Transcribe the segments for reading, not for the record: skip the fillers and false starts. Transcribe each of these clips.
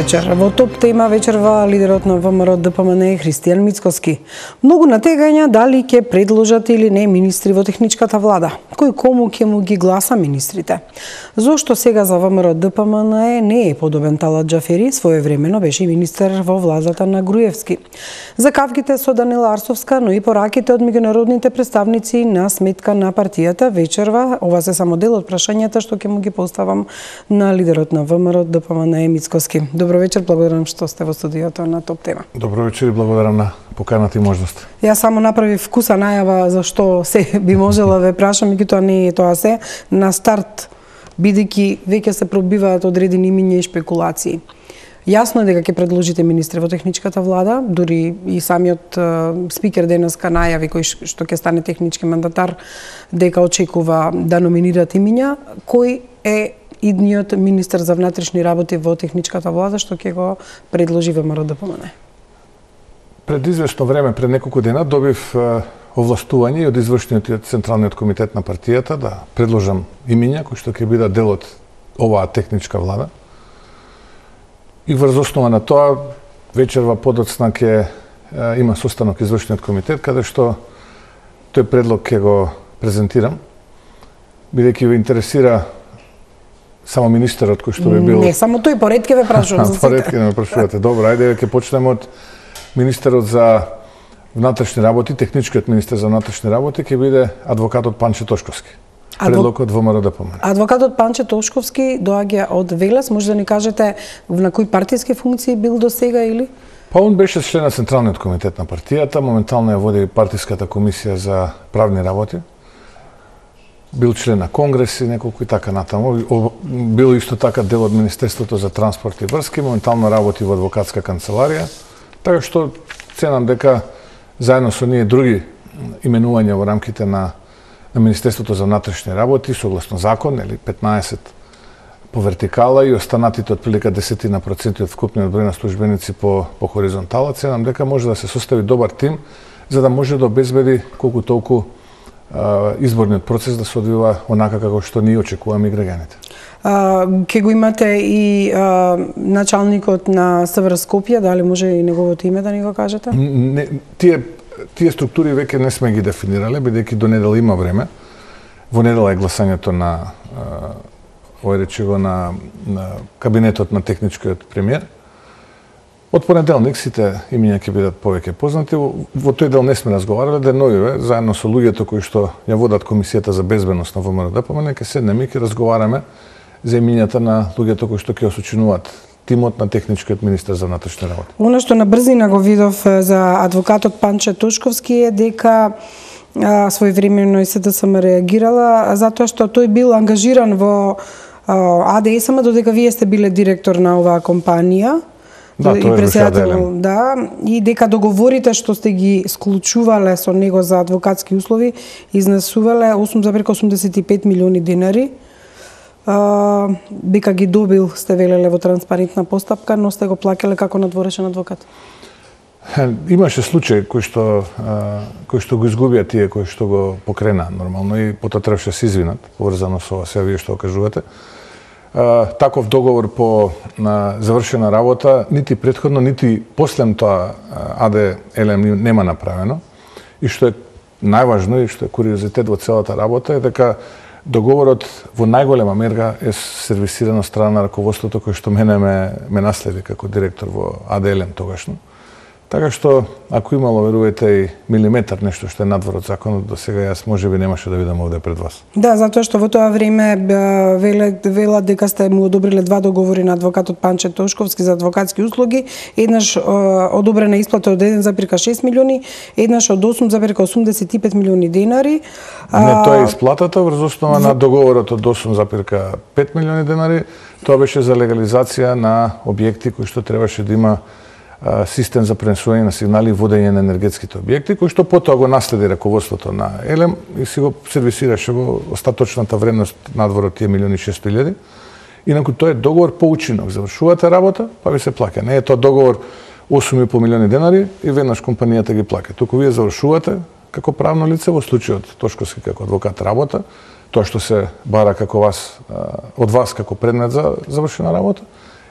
вечер. Во топ тема вечерва лидерот на ВМРО ДПМН Христијан Мицкоски. Многу натегања дали ќе предложат или не министри во техничката влада. Кој кому ќе му ги гласа министрите? Зошто сега за ВМРО ДПМН не е подобен Талат Џафери, своевремено беше министер во владата на Груевски. За кавките со Данила Арсовска, но и пораките од меѓународните представници на сметка на партијата вечерва, ова се само дел од прашањата што ќе му ги поставам на лидерот на ВМРО ДПМН Мицкоски. Добро вечер, благодарам што сте во студиото на топ тема. Добро вечер и благодарам на поканата и можност. Јас само направив вкуса најава за што се би можела ве прашам, меѓутоа не е тоа се на старт, бидејќи веќе се пробиваат одредени имиња и шпекулации. Јасно е дека ќе предложите министри во техничката влада, дури и самиот спикер денеска најави кој што ќе стане технички мандатар дека очекува да номинират имиња. Кој е идниот министер за внатрешни работи во техничката влада што ќе го предложи ВМРО ДПМН? Пред известно време, пред неколку дена, добив овластување од извршниот и од Централниот комитет на партијата да предложам имиња кои што ќе бидат дел од оваа техничка влада. И врз основа на тоа, вечерва подоцна ќе има состанок извршниот комитет, каде што тој предлог ќе го презентирам, бидејќи ве интересира само министерот кој што би бил... Не, само тој, поред ќе ве прашувам за сите. Поред ќе ме прашувате. Добро, ајде ќе почнеме од министерот за внатрешни работи, техничкиот министер за внатрешни работи ќе биде адвокатот Панче Тошковски. Предлог од ВМРО ДПМН. Адвокатот Панче Тошковски доаѓа од Велес, може да ни кажете на кои партиски функции бил до сега или? Па он беше член на Централниот комитет на партијата, моментално ја води партиската комисија за правни работи. Бил член на Конгрес и неколку и така натаму. Бил исто така дел од Министерството за транспорт и врски, моментално работи во адвокатска канцеларија. Така што ценам дека заедно со ние други именувања во рамките на Министерството за внатрешни работи, согласно закон, или 15 по вертикала и останатите отприлика 10% од вкупниот број на службеници по хоризонтала, ценам дека може да се состави добар тим за да може да обезбеди колку толку изборниот процес да се одвива онака како што ние очекуваме и граѓаните. Ке го имате и началникот на СВР Скопје, дали може и неговото име да ни го кажете? Не, тие структури веќе не сме ги дефинирале, бидејќи до недела има време. Во недела е гласањето на на кабинетот на техничкиот премиер. Од понеделник сите имиња ќе бидат повеќе познати. Во тој дел не сме разговарале, деновиве, заедно со луѓето кои што ја водат Комисијата за безбедност на ВМРО ДПМН, ќе седнеме и ќе разговараме за имињата на луѓето кои што ќе осочинуваат тимот на техничкиот министер за внатрешни работи. Оно што на брзина го видов за адвокатот Панче Тошковски е дека своевремено и СДСМ реагирала затоа што тој бил ангажиран во АДСМ додека вие сте биле директор на оваа компанија. Да, и председател, да, и дека договорите што сте ги склучувале со него за адвокатски услови изнесувале 8,85 милиони денари. Дека ги добил, сте велеле во транспарентна постапка, но сте го плакале како надворешен адвокат. Имаше случај кој што го изгубија тие кои што го покрена нормално и потоа требаше се извинат, поврзано со ова се вие што кажувате. Таков договор по завршена работа, нити претходно, нити последно тоа АД ЕЛМ нема направено. И што е најважно и што е куриозитет во целата работа е дека договорот во најголема мера е сервисиран од страна на раководството кој што мене ме наследи како директор во АД ЕЛМ тогашно. Така што, ако имало, верувате, и милиметар нешто што е надвор од законот, до сега јас можеби немаше да видам овде пред вас. Да, затоа што во тоа време велат дека сте му одобриле два договори на адвокатот Панче Тошковски за адвокатски услуги, еднаш одобрена исплата од 1,6 милиони, еднаш од 8,85 милиони денари. Не, тоа е исплатата врз основа на договорот од 8,5 милиони денари. Тоа беше за легализација на објекти кои што требаше да има систем за пренесување на сигнали и водење на енергетските објекти, кој што потоа го наследи раководството на ЕЛМ и си го сервисираше во остаточната вредност надвор од тие 1.600.000. Инаку тоа е договор по учинок. Завршувате работа, па ви се плаќа. Не е тоа договор 8,5 милиони денари и веднаш компанијата ги плаќа. Туку вие завршувате како правно лице, во случајот Тошковски како адвокат работа, тоа што се бара како од вас како предмет за завршена работа,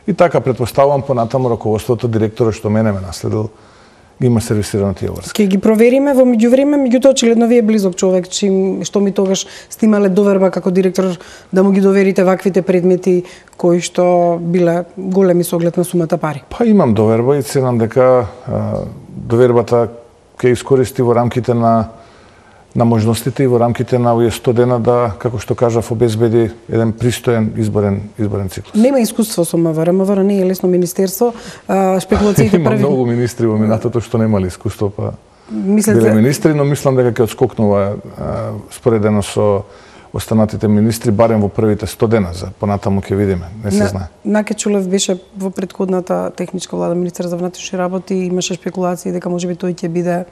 И така претпоставувам понатаму раководството, директорот што мене ме наследил, има сервисирано тие врски. Ќе ги провериме во меѓувреме, меѓутоа очигледно ви е близок човек, што ми тогаш сте имале доверба како директор да му ги доверите ваквите предмети кои што биле големи со оглед на сумата пари. Па имам доверба и ценам дека довербата ќе искористи во рамките на можностите и во рамките на овие 100 дена да, како што кажав, обезбеди еден пристоен изборен циклус. Нема искуство со МВР. МВР не е лесно министерство. Шпекулациите Има многу министри во минатото што немале искуство, па биле министри, но мислам дека ќе отскокнува споредено со останатите министри, барем во првите 100 дена, за понатаму ќе видиме, не се знае. Наке Чулев беше во претходната техничка влада министер за внатрешни работи, имаше шпекулации дека можеби тој ќе биде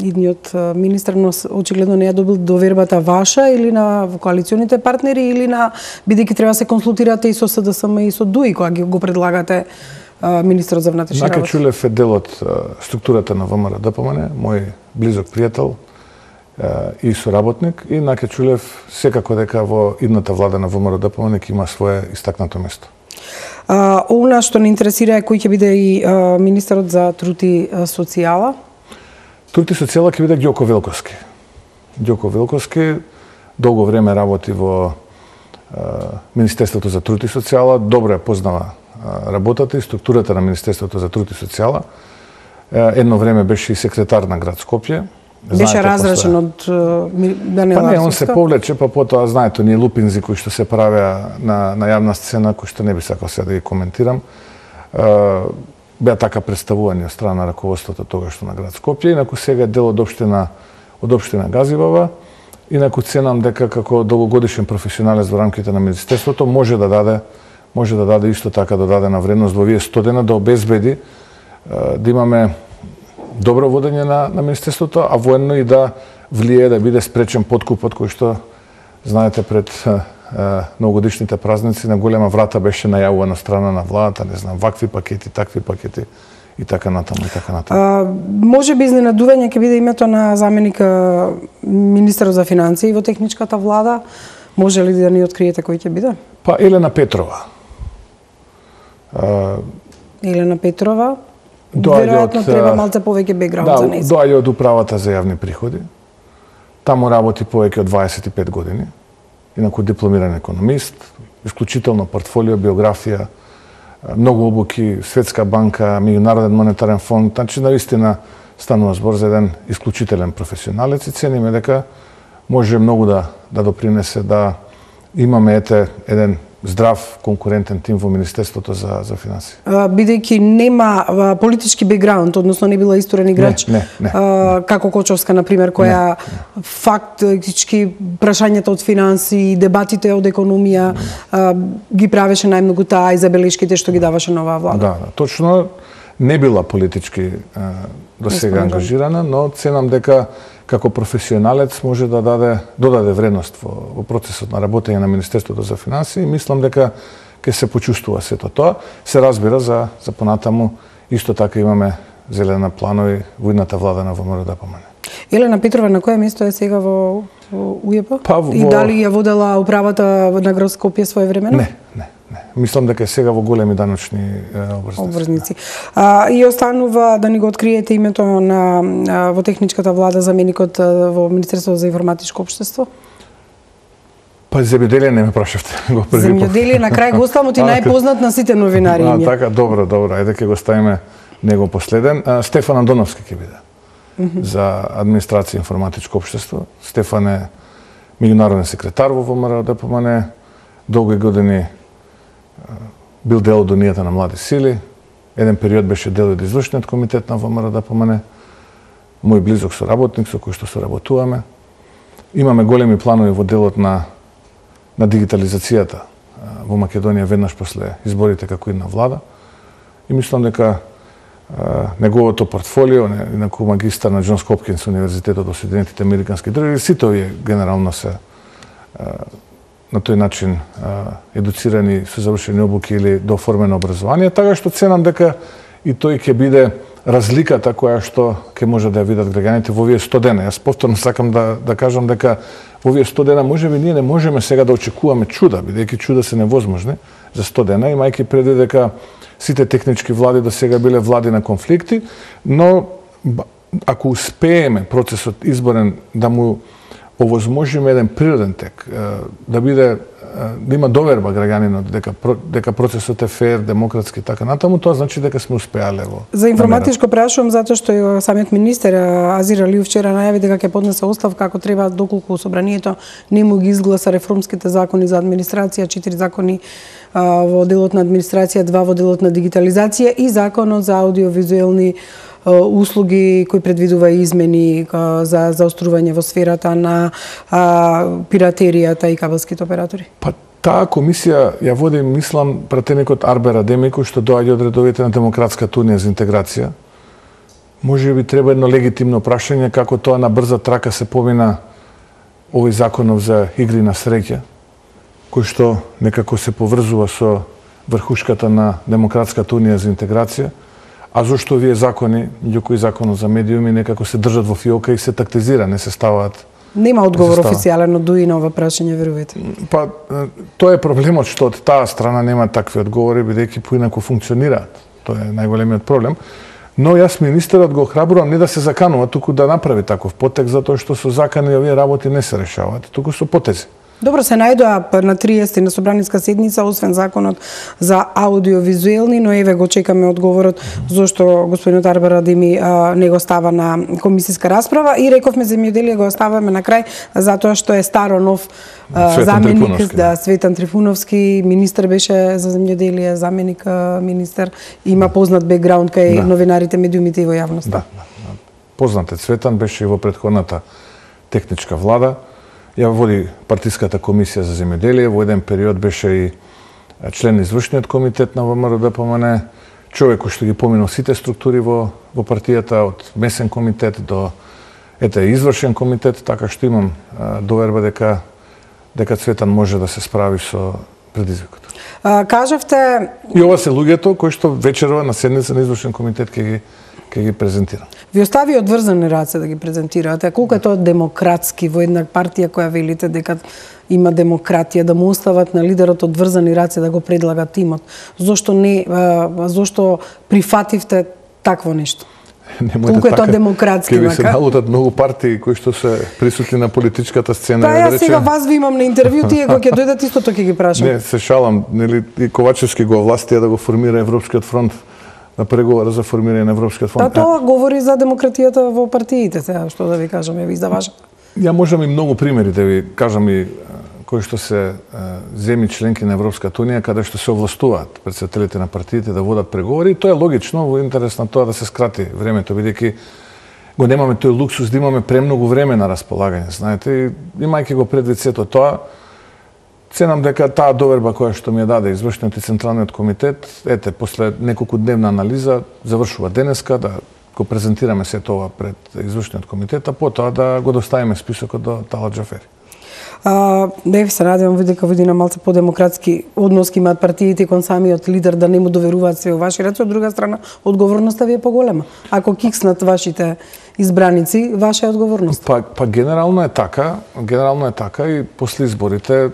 идниот министер, но очигледно не ја добил довербата ваша или на коалиционите партнери или на бидејќи треба се консултирате и со СДСМ и со ДУИ кога го предлагате министерот за внатрешни работи. Наке Чулев е дел од структурата на ВМРО-ДПМН, мој близок пријател и соработник, и Наке Чулев секако дека во идната влада на ВМРО-ДПМН ќе има свое истакнато место. Она што не интересира е кој ќе биде и министерот за труд и социјала. Труд и социјала ќе биде Ѓоко Велковски. Ѓоко Велковски долго време работи во Министерството за труд и социјала, добро ја познава работата и структурата на Министерството за труд и социјала. Едно време беше и секретар на град Скопје. Беше разрешен од Даниела Арсовска? Па не, он се повлече, па потоа, знаете, оние лупинзи кои што се правеа на јавна сцена, кои што не би сакал сега да ги коментирам, беа така представувани од страна на раководството тогашно на град Скопје, инаку сега е дел од општина Газибава, инаку ценам дека како долгогодишен професионалец во рамките на министерството може да даде исто така додадена вредност во овие 100 дена да обезбеди да имаме добро водење на министерството, а военно и да влие да биде спречен подкупот кој што знаете пред новогодишните празници на голема врата беше најавувана страна на владата, не знам, вакви пакети, такви пакети и така натаму. Може би изненадување ќе биде името на заменик министерот за финансии во техничката влада. Може ли да ни откриете кој ќе биде? Па Елена Петрова. Елена Петрова. Веројатно треба малце повеќе бекграунд за неја. Да, доаѓа од управата за јавни приходи. Таму работи повеќе од 25 години. Инаку дипломиран економист, исклучително портфолио, биографија, многу обуки, Светска банка, Меѓународен монетарен фонд, значи наистина станува збор за еден исклучителен професионалец и цениме дека може многу да допринесе да имаме еден здрав, конкурентен тим во Министерството за финансии. Бидејќи нема политички бекграунд, односно не била исторен играч, не. како Кочовска, например, која фактички прашањата од финансии, дебатите од економија ги правеше најмногу таа и забелешките што ги даваше на оваа влада. Да, точно не била политички до сега ангажирана, но ценам дека како професионалец може да додаде вредност во процесот на работење на Министерството за финансии и мислам дека ќе се почувствува сето тоа. Се разбира за понатаму исто така имаме зелена планови во идната влада на ВМРО-ДПМН. Елена Петрова на кое место е сега во УЈП? Па, и дали ја водела управата на град Скопје своевремено? Не. Мислам дека е сега во големи даночни обврзници. И останува да ни го откриете името во техничката влада заменикот во Министерството за информатичко општество? Па земјоделие не ме прашавте. Земјоделие на крај го оставам, ти најпознат на сите новинари. Така, добро, ајде ќе го ставиме него последен. Стефан Андоновски ќе биде за администрација и информатичко општество. Стефан е меѓународен секретар во ВМРО-ДПМН, долги години бил дел од Унијата на млади сили, еден период беше дел од извршниот комитет на ВМРО-ДПМН, мој близок соработник со кој што соработуваме. Имаме големи планови во делот на дигитализацијата во Македонија веднаш после изборите како идна влада. И мислам дека неговото портфолио, инаку магистар на Џонс Хопкинс универзитетот во Соединетите Американски држави, сите овие генерално се на тој начин едуцирани со завршени обуки или дооформено образование, така што ценам дека и тој ќе биде разликата која што ќе може да ја видат граѓаните во овие 100 дена. Јас повторно сакам да кажам дека во овие 100 дена можеби ние не можеме сега да очекуваме чуда, бидејќи чуда се невозможни за 100 дена, имајќи предвид дека сите технички влади до сега биле влади на конфликти, но ако успееме процесот изборен да му овозможиме еден природен тек, да има доверба граѓанинот дека процесот е фер, демократски и така натаму, тоа значи дека сме успеале во. За информатичко прашувам затоа што самиот министер Азир Алиев вчера најави дека ќе поднесе оставка ако треба доколку собранието не му ги изгласа реформските закони за администрација, 4 закони во делот на администрација, 2 во делот на дигитализација и законот за аудиовизуелни услуги кои предвидува измени за заострување во сферата на пиратеријата и кабелските оператори? Па таа комисија ја води, мислам, пратеникот Арбер Адеми, кој што доаѓа од редовите на Демократската унија за интеграција. Може би треба едно легитимно прашање како тоа на брза трака се помина овој законов за игри на среќа, кој што некако се поврзува со врхушката на Демократската унија за интеграција. А зошто овие закони, кои законот за медиуми, некако се држат во фиока и се тактизира, не се ставаат? Нема одговор официјален од ДУИ на ова прашање, верувате? Па, тоа е проблемот што од таа страна нема такви одговори, бидејќи поинаку функционираат. Тоа е најголемиот проблем. Но јас министерот го охрабрувам не да се заканува, туку да направи таков потек, затоа што со закани овие работи не се решаваат, туку со потези. Добро, се најдоа на 30 на собраниска седница, освен законот за аудиовизуелни, но еве го чекаме одговорот зошто господинот Арбер Адеми не го става на комисиска расправа и рековме земјоделие го оставаме на крај затоа што е старо нов заменик, Светан Трифуновски, министер беше за земјоделие, заменик министер, има познат бекграунд кај новинарите, медиумите и во јавноста. Да. Познат е Цветан, беше и во претходната техничка влада. Ја води партиската комисија за земјоделие, во еден период беше и член на извршниот комитет на ВМРО-ДПМН, човек кој што ги поминал сите структури во партијата, од месен комитет до извршен комитет, така што имам доверба дека Цветан може да се справи со предизвикот. Кажавте... И ова се луѓето кои што вечерова на седница на извршен комитет ќе ги презентира. Ви остави одврзани раце да ги презентирате. Колку е тоа демократски во една партија која велите дека има демократија, да му остават на лидерот одврзани раце да го предлага тимот? Зошто прифативте такво нешто? Колку е тоа демократски? Ке ви се налутат многу партии кои што се присутни на политичката сцена. Па јас сега вас ви имам на интервју, тие кога ќе дојдат истото ќе ги прашам. Не, се шалам, нели и Ковачевски го овластија да го формира Европскиот фронт, на преговора за формирање на Европскиот фонд. Тоа говори за демократијата во партиите, сега што да ви кажам, ви заважа. Ја можам и многу примери да ви кажам и кои што се земји членки на Европската унија каде што се овластуваат претседателите на партиите да водат преговори и тоа е логично во интерес на тоа да се скрати времето, бидејќи го немаме тој луксус да имаме премногу време на располагање, знаете, и имајќи го предвид сето тоа, ценам дека таа доверба која што ми ја даде извршниот и централниот комитет, после неколку дневна анализа завршува денеска да го презентираме сето ова пред извршниот комитет, а потоа да го доставиме списокот до Талат Џафери. Не се надевам дека видина малце по-демократски односки имаат партиите кон самиот лидер да не му доверуваат се во ваши раце, од друга страна одговорноста ви е поголема. Ако кикснат вашите избраници, ваша е одговорност. Па генерално е така и после изборите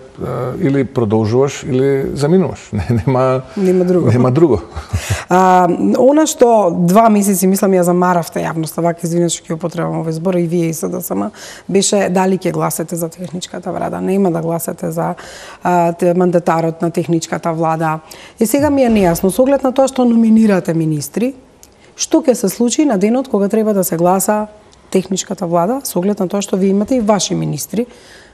или продолжуваш или заминуваш. Нема друго. Она што 2 месеци мислам ја замаравте јавноста, вака извинете што ќе употребам овој збор и вие и СДСМ, беше дали ќе гласате за техничката влада, нема да гласате за мандатарот на техничката влада. И сега ми е нејасно, со оглед на тоа што номинирате министри, што ќе се случи на денот кога треба да се гласа техничката влада, со оглед на тоа што ви имате и ваши министри.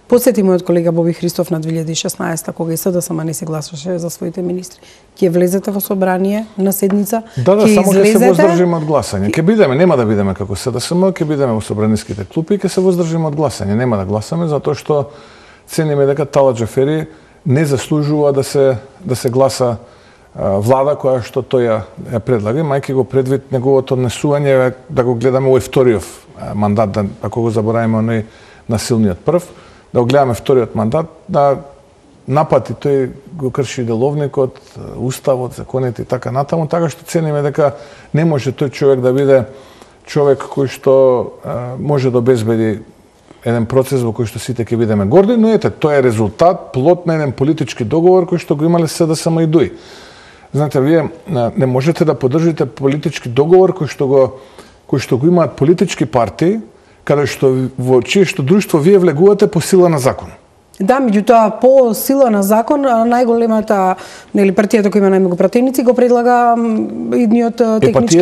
Подсети мојот колега Боби Христов на 2016 кога и СДСМ не се гласаше за своите министри. Ќе влезете во собрание на седница? Да, само ќе се воздржиме од гласање. Ќе бидеме, нема да бидеме како СДСМ, ќе бидеме во собраниските клупи и ќе се воздржиме од гласање. Нема да гласаме затоа што цениме дека Талат Џафери не заслужува да се гласа влада која што тој ја предлага, мајки го предвид неговото однесување да го гледаме овој вториот мандат, ако го забораваме оној насилниот прв, да го гледаме вториот мандат, да напати, тој го крши деловникот, уставот, законите и така натаму, така што цениме дека не може тој човек да биде човек кој што може да обезбеди еден процес во кој што сите ќе бидеме горди, но ете, тоа е резултат, плод на еден политички договор кој што го имале СДСМ и ДУИ. Знаете, вие не можете да поддржите политички договор кој што го имаат политички партии, каде што во чие што друштво вие влегувате по сила на закон. Да, меѓутоа по сила на закон најголемата партијата која има најмногу пратеници го предлага идниот технички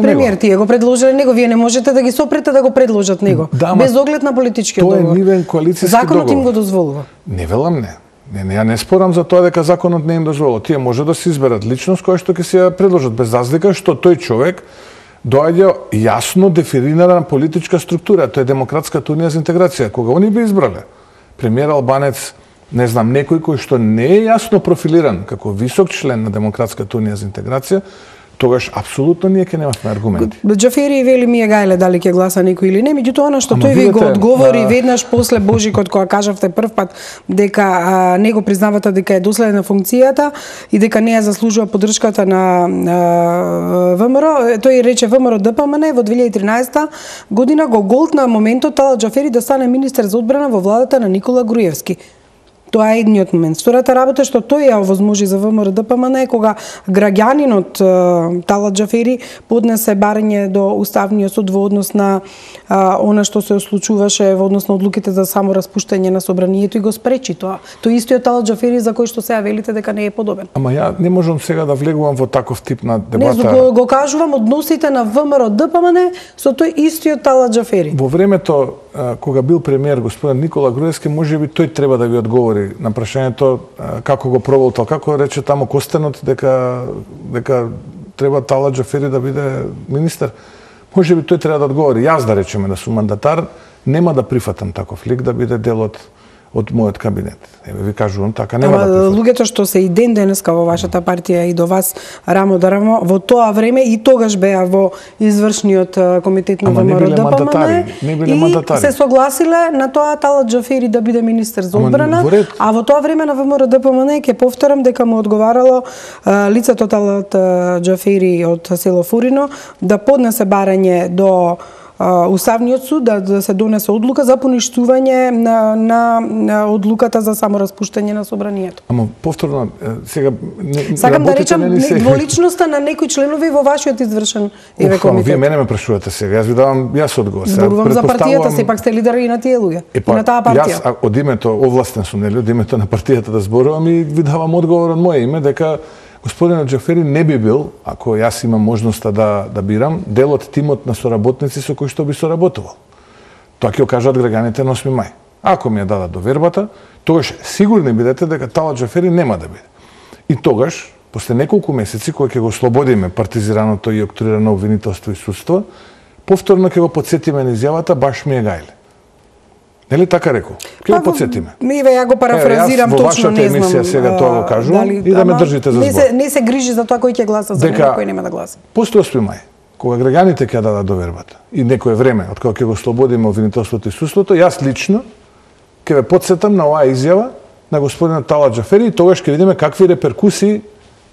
премиер. Тие го предложиле него, вие не можете да ги сопрете да го предложат него, без оглед на политичкиот договор. Тоа е нивен коалициски договор. Законот им го дозволува. Не велам не. Ја не спорам за тоа дека законот не им дозволува. Тие може да се изберат личност која што ќе се ја предложат, без разлика што тој човек доаѓа јасно дефинирана политичка структура. Тоа е Демократската унија за интеграција. Кога они би избрале премиер албанец, не знам, некој кој што не е јасно профилиран како висок член на Демократската унија за интеграција, тогаш апсолутно ние ќе немавме аргументи. Џафери вели ми е гајле дали ќе гласа некој или не, меѓутоа она што тој ви го одговори веднаш после Божикот кога кажавте прв пат дека него признавате дека е доследен на функцијата и дека не ја заслужува поддршката на ВМРО, тој рече ВМРО ДПМН во 2013 година го голтна моментот Талат Џафери да стане министер за одбрана во владата на Никола Груевски. Тоа е едниот момент. Втората работа што тој ја овозможи за ВМРО ДПМН е кога граѓанинот Талат Џафери поднесе барање до Уставниот суд во однос на она што се случуваше во однос на одлуките за само распуштање на собранието и го спречи тоа. Тој истиот Талат Џафери за кој што сега велите дека не е подобен. Ама ја не можам сега да влегувам во таков тип на дебата. Не, го кажувам односите на ВМРО ДПМН со тој истиот Талат Џафери. Во времето кога бил премиер господин Никола Груевски, можеби тој треба да ви одговори на прашањето како го проволтал, како рече таму Костенот дека треба Талат Џафери да биде министер. Можеби тој треба да одговори. Јас да речеме да сум мандатар, нема да прифатам таков лик да биде дел од мојот кабинет. Еве ви кажувам така, нема да прифатам. Луѓето што се и ден денеска во вашата партија и до вас рамо да рамо, во тоа време и тогаш беа во извршниот комитет на ВМРО ДПМН и се согласиле на тоа Талат Џафери да биде министер за одбрана, а во тоа време на ВМРО ДПМН ќе повторам дека му одговарало лицето Талат Џафери од село Фурино да поднесе барање до Уставниот суд да се донесе одлука за поништување на одлуката за самораспуштање на собранието. Ама повторно сега сакам да речам дволичноста на некои членови во вашиот извршен комитет. Вие мене ме прашувате сега, јас ви давам одговор. Зборувам за партијата, сепак сте лидер и на тие луѓе, и на таа партија. Јас од името овластен сум, нели, од името на партијата да зборувам и ви давам одговор од моје име дека господинот Џафери не би бил, ако јас имам можноста да бирам, дел од тимот на соработници со кои што би соработувал. Тоа ќе го кажат граѓаните на 8 мај. Ако ми ја дадат довербата, тогаш сигурни бидете дека Талат Џафери нема да биде. И тогаш, после неколку месеци, кога ќе го ослободиме партизираното и октрирано обвинителство и судство, повторно ќе го потсетиме на изјавата баш ми е гајле. Нели така рекол? Ќе го потсетиме. Еве ја го парафразирам точно, не знам. Емисија сега тоа го кажувам и да ме држите за збор. Не се грижи за тоа кој ќе гласа за него, кој нема да гласа. После 8 мај, кога граѓаните ќе дадат довербата и некое време од кога ќе го ослободиме обвинителството и судството, јас лично ќе ве потсетам на оваа изјава на господинот Талат Џафери и тогаш ќе видиме какви реперкусии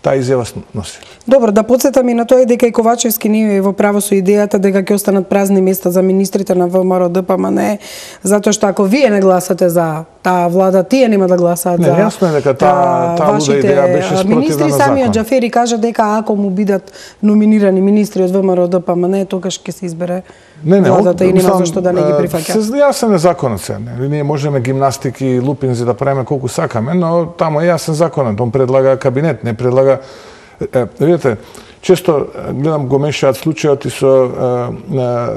таа изјава носи. Добро, да потсетам и на тоа дека и Ковачевски не е во право со идејата дека ќе останат празни места за министрите на ВМРО ДПМН, затоа што ако вие не гласате за таа влада, тие нема да гласаат за. Не, јасно е дека таа луда идеја беше спротивна на министри. Самиот Џафери кажа дека ако му бидат номинирани министри од ВМРО ДПМН, тогаш ќе се избере владата и нема зашто да не ги прифаќа. Јасен е законот се. Ние можеме гимнастики и лупинзи да правиме колку сакаме, но таму е јасен законот. Он предлага кабинет, не предлага. Видите, често гледам го мешаат случајот и со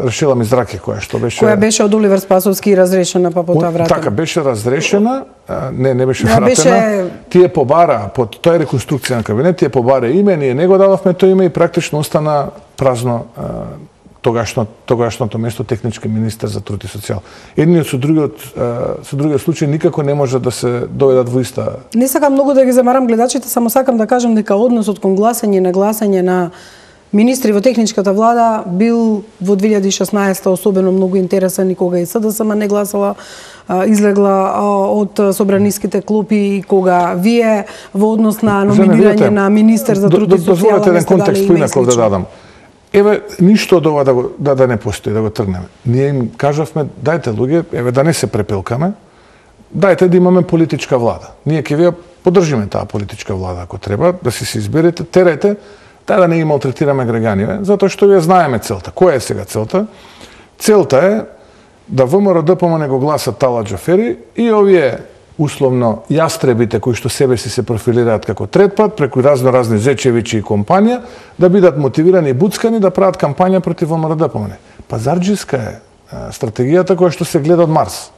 Рашела Мизраки која беше од Оливер Спасовски и разрешена па потоа вратена. Така беше разрешена, не беше вратена. Тие побара под тоа реконструкција на кабинет, тие побара име, ние не го дадовме тоа име и практично остана празно тогашното место технички министер за труд и социјал. Едниот со другиот случај никако не може да се доведат во иста. Не сакам многу да ги замарам гледачите, само сакам да кажам дека односот кон гласање на министри во техничката влада бил во 2016 особено многу интересен и кога и СДСМ не гласала, излегла од собраниските клупи и кога вие во однос на номинирање на министер за труд и социјална дозволете еден контекст поинаков да дадам. Еве, ништо од ова да не постои, да го тргнеме. Ние им кажавме, дајте луѓе, еве да не се препилкаме, дајте да имаме политичка влада. Ние ќе ви поддржиме таа политичка влада ако треба, да се изберете, терајте, да не ги малтретираме граѓаниве, затоа што вие знаеме целта. Која е сега целта? Целта е да ВМРО-ДПМНЕ го гласат Тала Џафери и овие условно јастребите кои што себе си се профилираат како третпат преку разни Зечевичи и компанија да бидат мотивирани и буцкани да прават кампања против ВМРО-ДПМНЕ. Пазарџиска е стратегијата која што се гледа од Марс.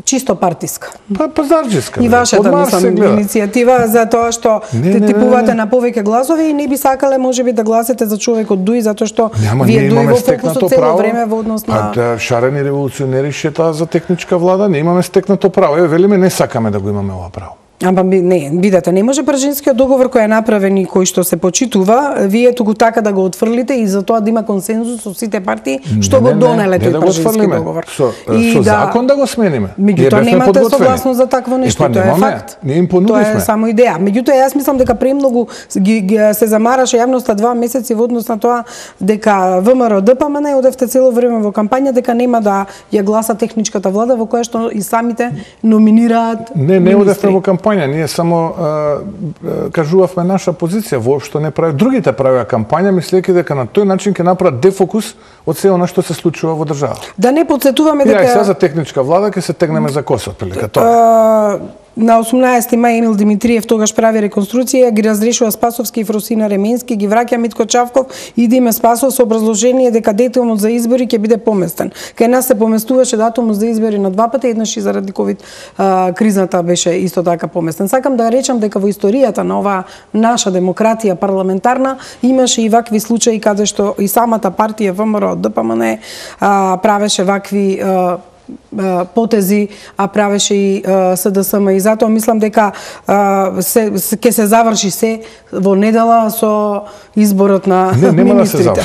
Чисто партиска. Пазарџиска. И вашата иницијатива за тоа што типувате на повеќе гласови и не би сакале можеби да гласите за човек од ДУИ затоа што вие ДУИ во фокусот цело време во однос на шарени револуционери шетаа за техничка влада, не имаме стекнато право. Еве велиме не сакаме да го имаме ова право. Ама не, видете, не може Пржинскиот договор кој е направен и кој што се почитува, вие туку така да го отфрлите и за тоа да има консензус со сите партии што го донеле тој Пржински договор. Со закон да го смениме. Меѓутоа немате согласност за такво нешто, тоа е факт. Ние им понудивме. Тоа е само идеја. Меѓутоа јас мислам дека премногу се замараше јавноста 2 месеци во однос на тоа дека ВМРО-ДПМНЕ одевте цело време во кампања дека нема да ја гласа техничката влада во која што и самите номинираат. Не одевте во кампања. Ние само кажувавме наша позиција, воопшто не прави. Другите правеа кампања, мислејќи дека на тој начин ќе направат дефокус од се она што се случува во државата. Да не потсетуваме дека сега за техничка влада ќе се тегнеме за коса, прилика тоа. На 18 мај Емил Димитриев тогаш прави реконструкција, ги разрешува Спасовски и Фросина Ременски, ги враќа Митко Чавков и Диме Спасов со образложение дека датумот за избори ќе биде поместен. Кај нас се поместуваше датумот за избори на 2 пати, еднаш и заради ковид кризата беше исто така поместен. Сакам да речам дека во историјата на оваа наша демократија парламентарна имаше и вакви случаи каде што и самата партија ВМРО-ДПМНЕ правеше вакви потези, а правеше и СДСМ и затоа мислам дека ќе се заврши се во недела со изборот на министрите.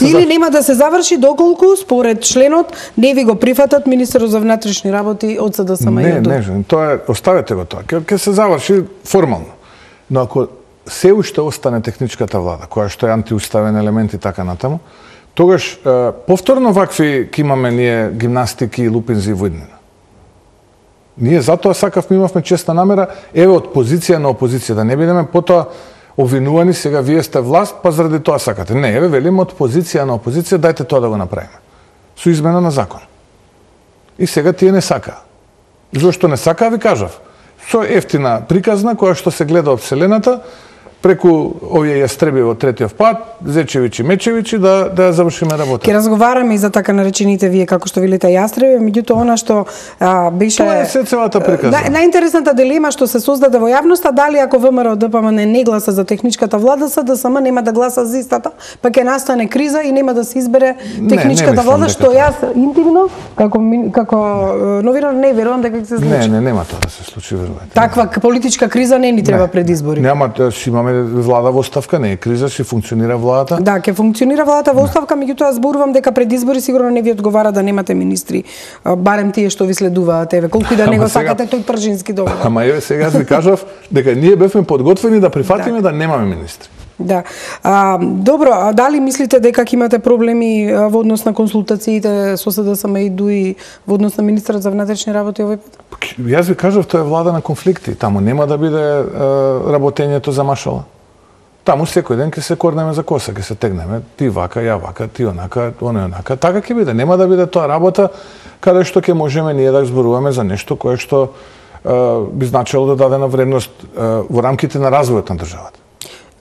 Или нема да се заврши доколку според членот не ви го прифатат министерот за внатрешни работи од СДСМ и од ДПМНЕ. Не, тоа е, оставете го тоа. Ќе се заврши формално. Но ако се уште остане техничката влада, која што е антиуставен елемент и така натаму, тогаш повторно вакви ќе имаме ние гимнастики и лупинзи во иднина. Ние затоа сакавме, имавме честна намера, еве од позиција на опозиција, да не бидеме потоа обвинувани, сега вие сте власт, па заради тоа сакате. Не, еве велиме од позиција на опозиција, дајте тоа да го направиме. Со измена на закон. И сега тие не сакаа. Зошто не сакаа, ви кажав. Со ефтина приказна, која што се гледа од вселената, преку овие јастреби во третиот пат, Зечевичи, Мечевичи, да ја завршиме работа. Ке разговараме и за така наречените вие, како што велите јастреби, меѓутоа она што беше... Тоа е се целата приказна. Најинтересната дилема што се создаде во јавноста, дали ако ВМРО-ДПМНЕ не гласа за техничката влада, СДСМ нема да гласа за истата, па ќе настане криза и нема да се избере техничката влада, што јас интимно, како новинар, не верувам дека ќе се случи. Не, нема тоа да се случи, верувајте. Таква политичка криза не ни треба пред избори. Нема, имаме влада во оставка, не е криза, ќе функционира владата. Да, ќе функционира владата во оставка, меѓутоа зборувам дека пред избори сигурно не ви одговара да немате министри, барем тие што ви следуваат, еве, колку и да не го сакате тој Пржински договор. Ама еве сега ви кажав дека ние бевме подготвени да прифатиме да немаме министри. Да. Добро, а дали мислите дека ќе имате проблеми во однос на консултациите со СДСМ и ДУИ во однос на министерот за внатрешни работи овој пат? Јас ви кажав, тоа е влада на конфликти. Таму нема да биде работењето за машала. Таму секој ден ќе се корнеме за коса, ќе се тегнеме, ти вака, ја вака, ти онака, оне онака. Така ќе биде. Нема да биде тоа работа каде што ќе можеме ние да зборуваме за нешто кое што би значило да даде на вредност во рамките на развојот на државата.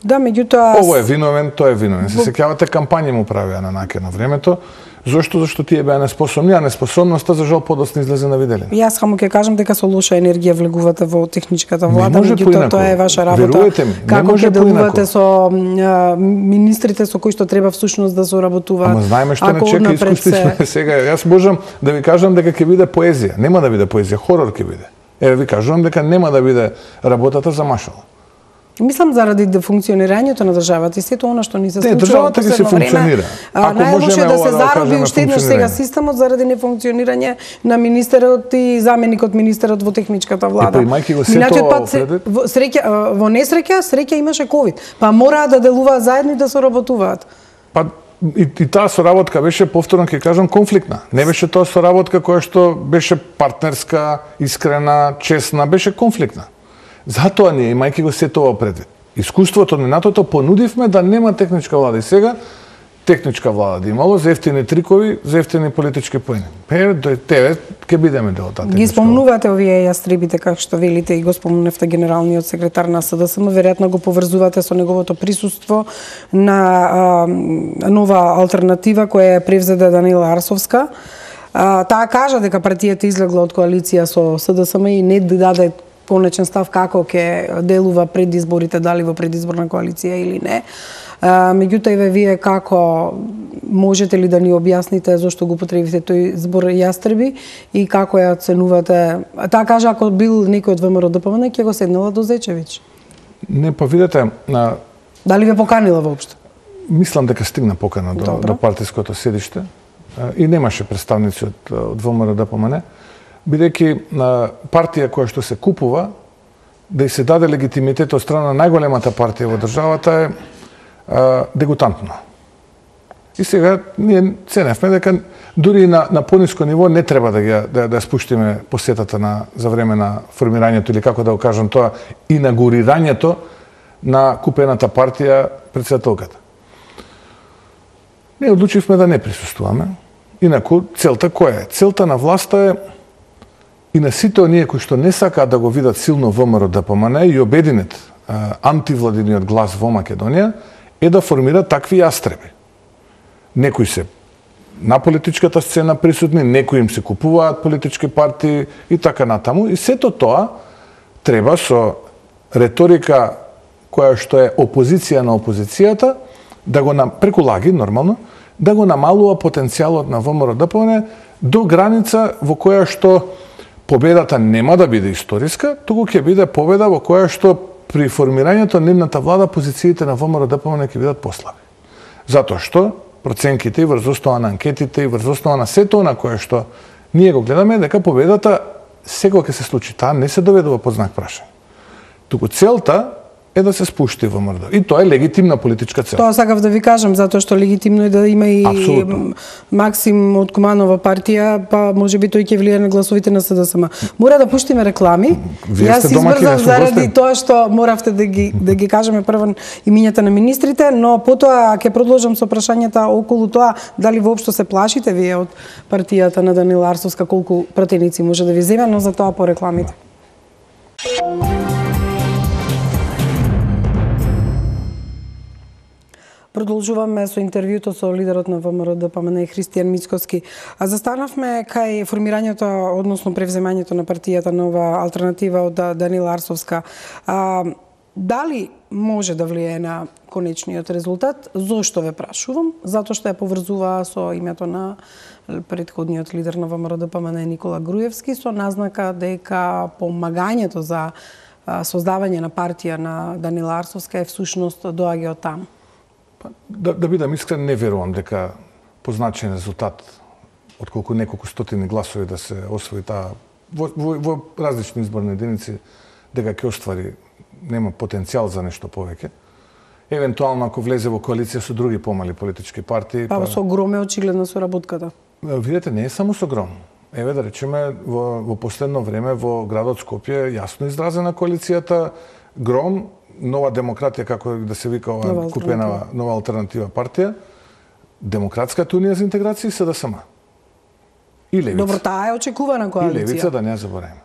Да, меѓутоа... Ово е виновен, тоа е виновен. Се сеќавате кампањи му правеа на наке на времето. Зошто? Зашто тие беа неспособни, а неспособноста за жал подоцна излезе на виделина. Јас само ќе кажам дека со лоша енергија влегувате во техничката влада, меѓутоа тоа е ваша работа. Верувате ми, како ќе делувате со министрите со кои што треба всушност да соработуваат. Ама знаеме што не чека, искуствени сме сега. Јас можам да ви кажам дека ќе биде поезија. Нема да биде поезија, хорор ќе биде. Еве ви кажувам дека нема да биде работата за машала. Мислам заради функционирањето на државата и сето она што ни се случува. Државата ги се функционира. Најлошо е да се зароби уште еднаш сега системот заради нефункционирање на министерот и заменикот министерот во техничката влада. Имајќи го сето во несреќа, среќа имаше ковид. Па мораа да делуваат заедно и да соработуваат. Па и таа соработка беше, повторно ќе кажам, конфликтна. Не беше тоа соработка која што беше партнерска, искрена, честна, беше конфликтна. Затоа ние, имајќи го се тоа предвид, искуството на НАТО-то понудивме да нема техничка влада. И сега техничка влада да имало за ефтини трикови, за ефтини политички поени. Тебе ќе бидеме дел од таа техничка. Ги спомнувате овие јастребите, како што велите, и го спомнувте генералниот секретар на СДСМ, веројатно го поврзувате со неговото присуство на нова алтернатива која е превзеда Данила Арсовска. Таа кажа дека партијата излегла од коалиција со СДСМ и не даде конечен став како ќе делува пред изборите, дали во предизборна коалиција или не. Меѓутоа, вие како можете ли да ни објасните зошто го потребивте тој збор јастреби и како ја оценувате? Таа кажа ако бил некој од ВМРО ДПМН ќе го седнала до Зечевиќ. Не, па видете, дали ве поканила воопшто? Мислам дека стигна покана до партиското седиште и немаше представници од ВМРО ДПМН. Бидејќи партија која што се купува, да и се даде легитимитет од страна на најголемата партија во државата е дегутантно. И сега ние ценевме дека дури на пониско ниво не треба да спуштиме посетата за време на формирањето или како да го кажам тоа, инаугурирањето на купената партија председателката. Ние одлучивме да не присуствуваме. Инаку целта која е? Целта на власта е и на сите оние кои што не сакаат да го видат силно ВМРО ДПМН и обединет антивладиниот глас во Македонија е да формираат такви јастреби. Некои се на политичката сцена присутни, некои им се купуваат политички партии и така натаму. И сето тоа треба со реторика која што е опозиција на опозицијата да го преку лаги нормално да го намалува потенцијалот на ВМРО ДПМН до граница во која што победата нема да биде историска, туку ќе биде победа во која што при формирањето на нивната влада позициите на ВМРО ДПМН ќе бидат послаби. Затоа што проценките и врз основа на анкетите и врз основа на сето на кое што ние го гледаме дека победата секогаш ќе се случи. Таа не се доведува под знак прашање. Туку целта е да се спушти ВМРО. И тоа е легитимна политичка цел. Тоа сакав да ви кажам, затоа што легитимно е да има и Максим од Куманова партија, па можеби тој ќе влијае на гласовите на СДСМ. Мора да пуштиме реклами. Јас избрзав заради тоа што моравте да ги кажеме прво имињата на министрите, но потоа ќе продолжам со прашањата околу тоа дали воопшто се плашите вие од партијата на Данила Арсовска, колку пратеници може да ви земе, но за тоа по рекламите. Продолжуваме со интервјуто со лидерот на ВМРО ДПМН Христијан Мицкоски. Застанавме кај формирањето, односно превземањето на партијата Нова алтернатива од Данила Арсовска. Дали може да влијае на конечниот резултат? Зошто ве прашувам? Затоа што ја поврзува со името на претходниот лидер на ВМРО ДПМН Никола Груевски со назнака дека помагањето за создавање на партија на Данила Арсовска е всушност доаѓа од таму. Да бидам искрен, не верувам дека позначен резултат отколку неколку стотини гласови да се освои таа во различни изборни единици, дека ќе оствари, нема потенцијал за нешто повеќе. Евентуално ако влезе во коалиција со други помали политички партии. Па со Гром е очигледна соработката. Видете, не е само со Гром. Еве да речеме во последно време во градот Скопје јасно изразена коалицијата Гром, Нова демократија, како да се вика ова купена Нова алтернатива партија, Демократската унија за интеграција и СДСМ. И Левица. Добро, таа е очекувана коалиција. И Левица, да не ја забораваме.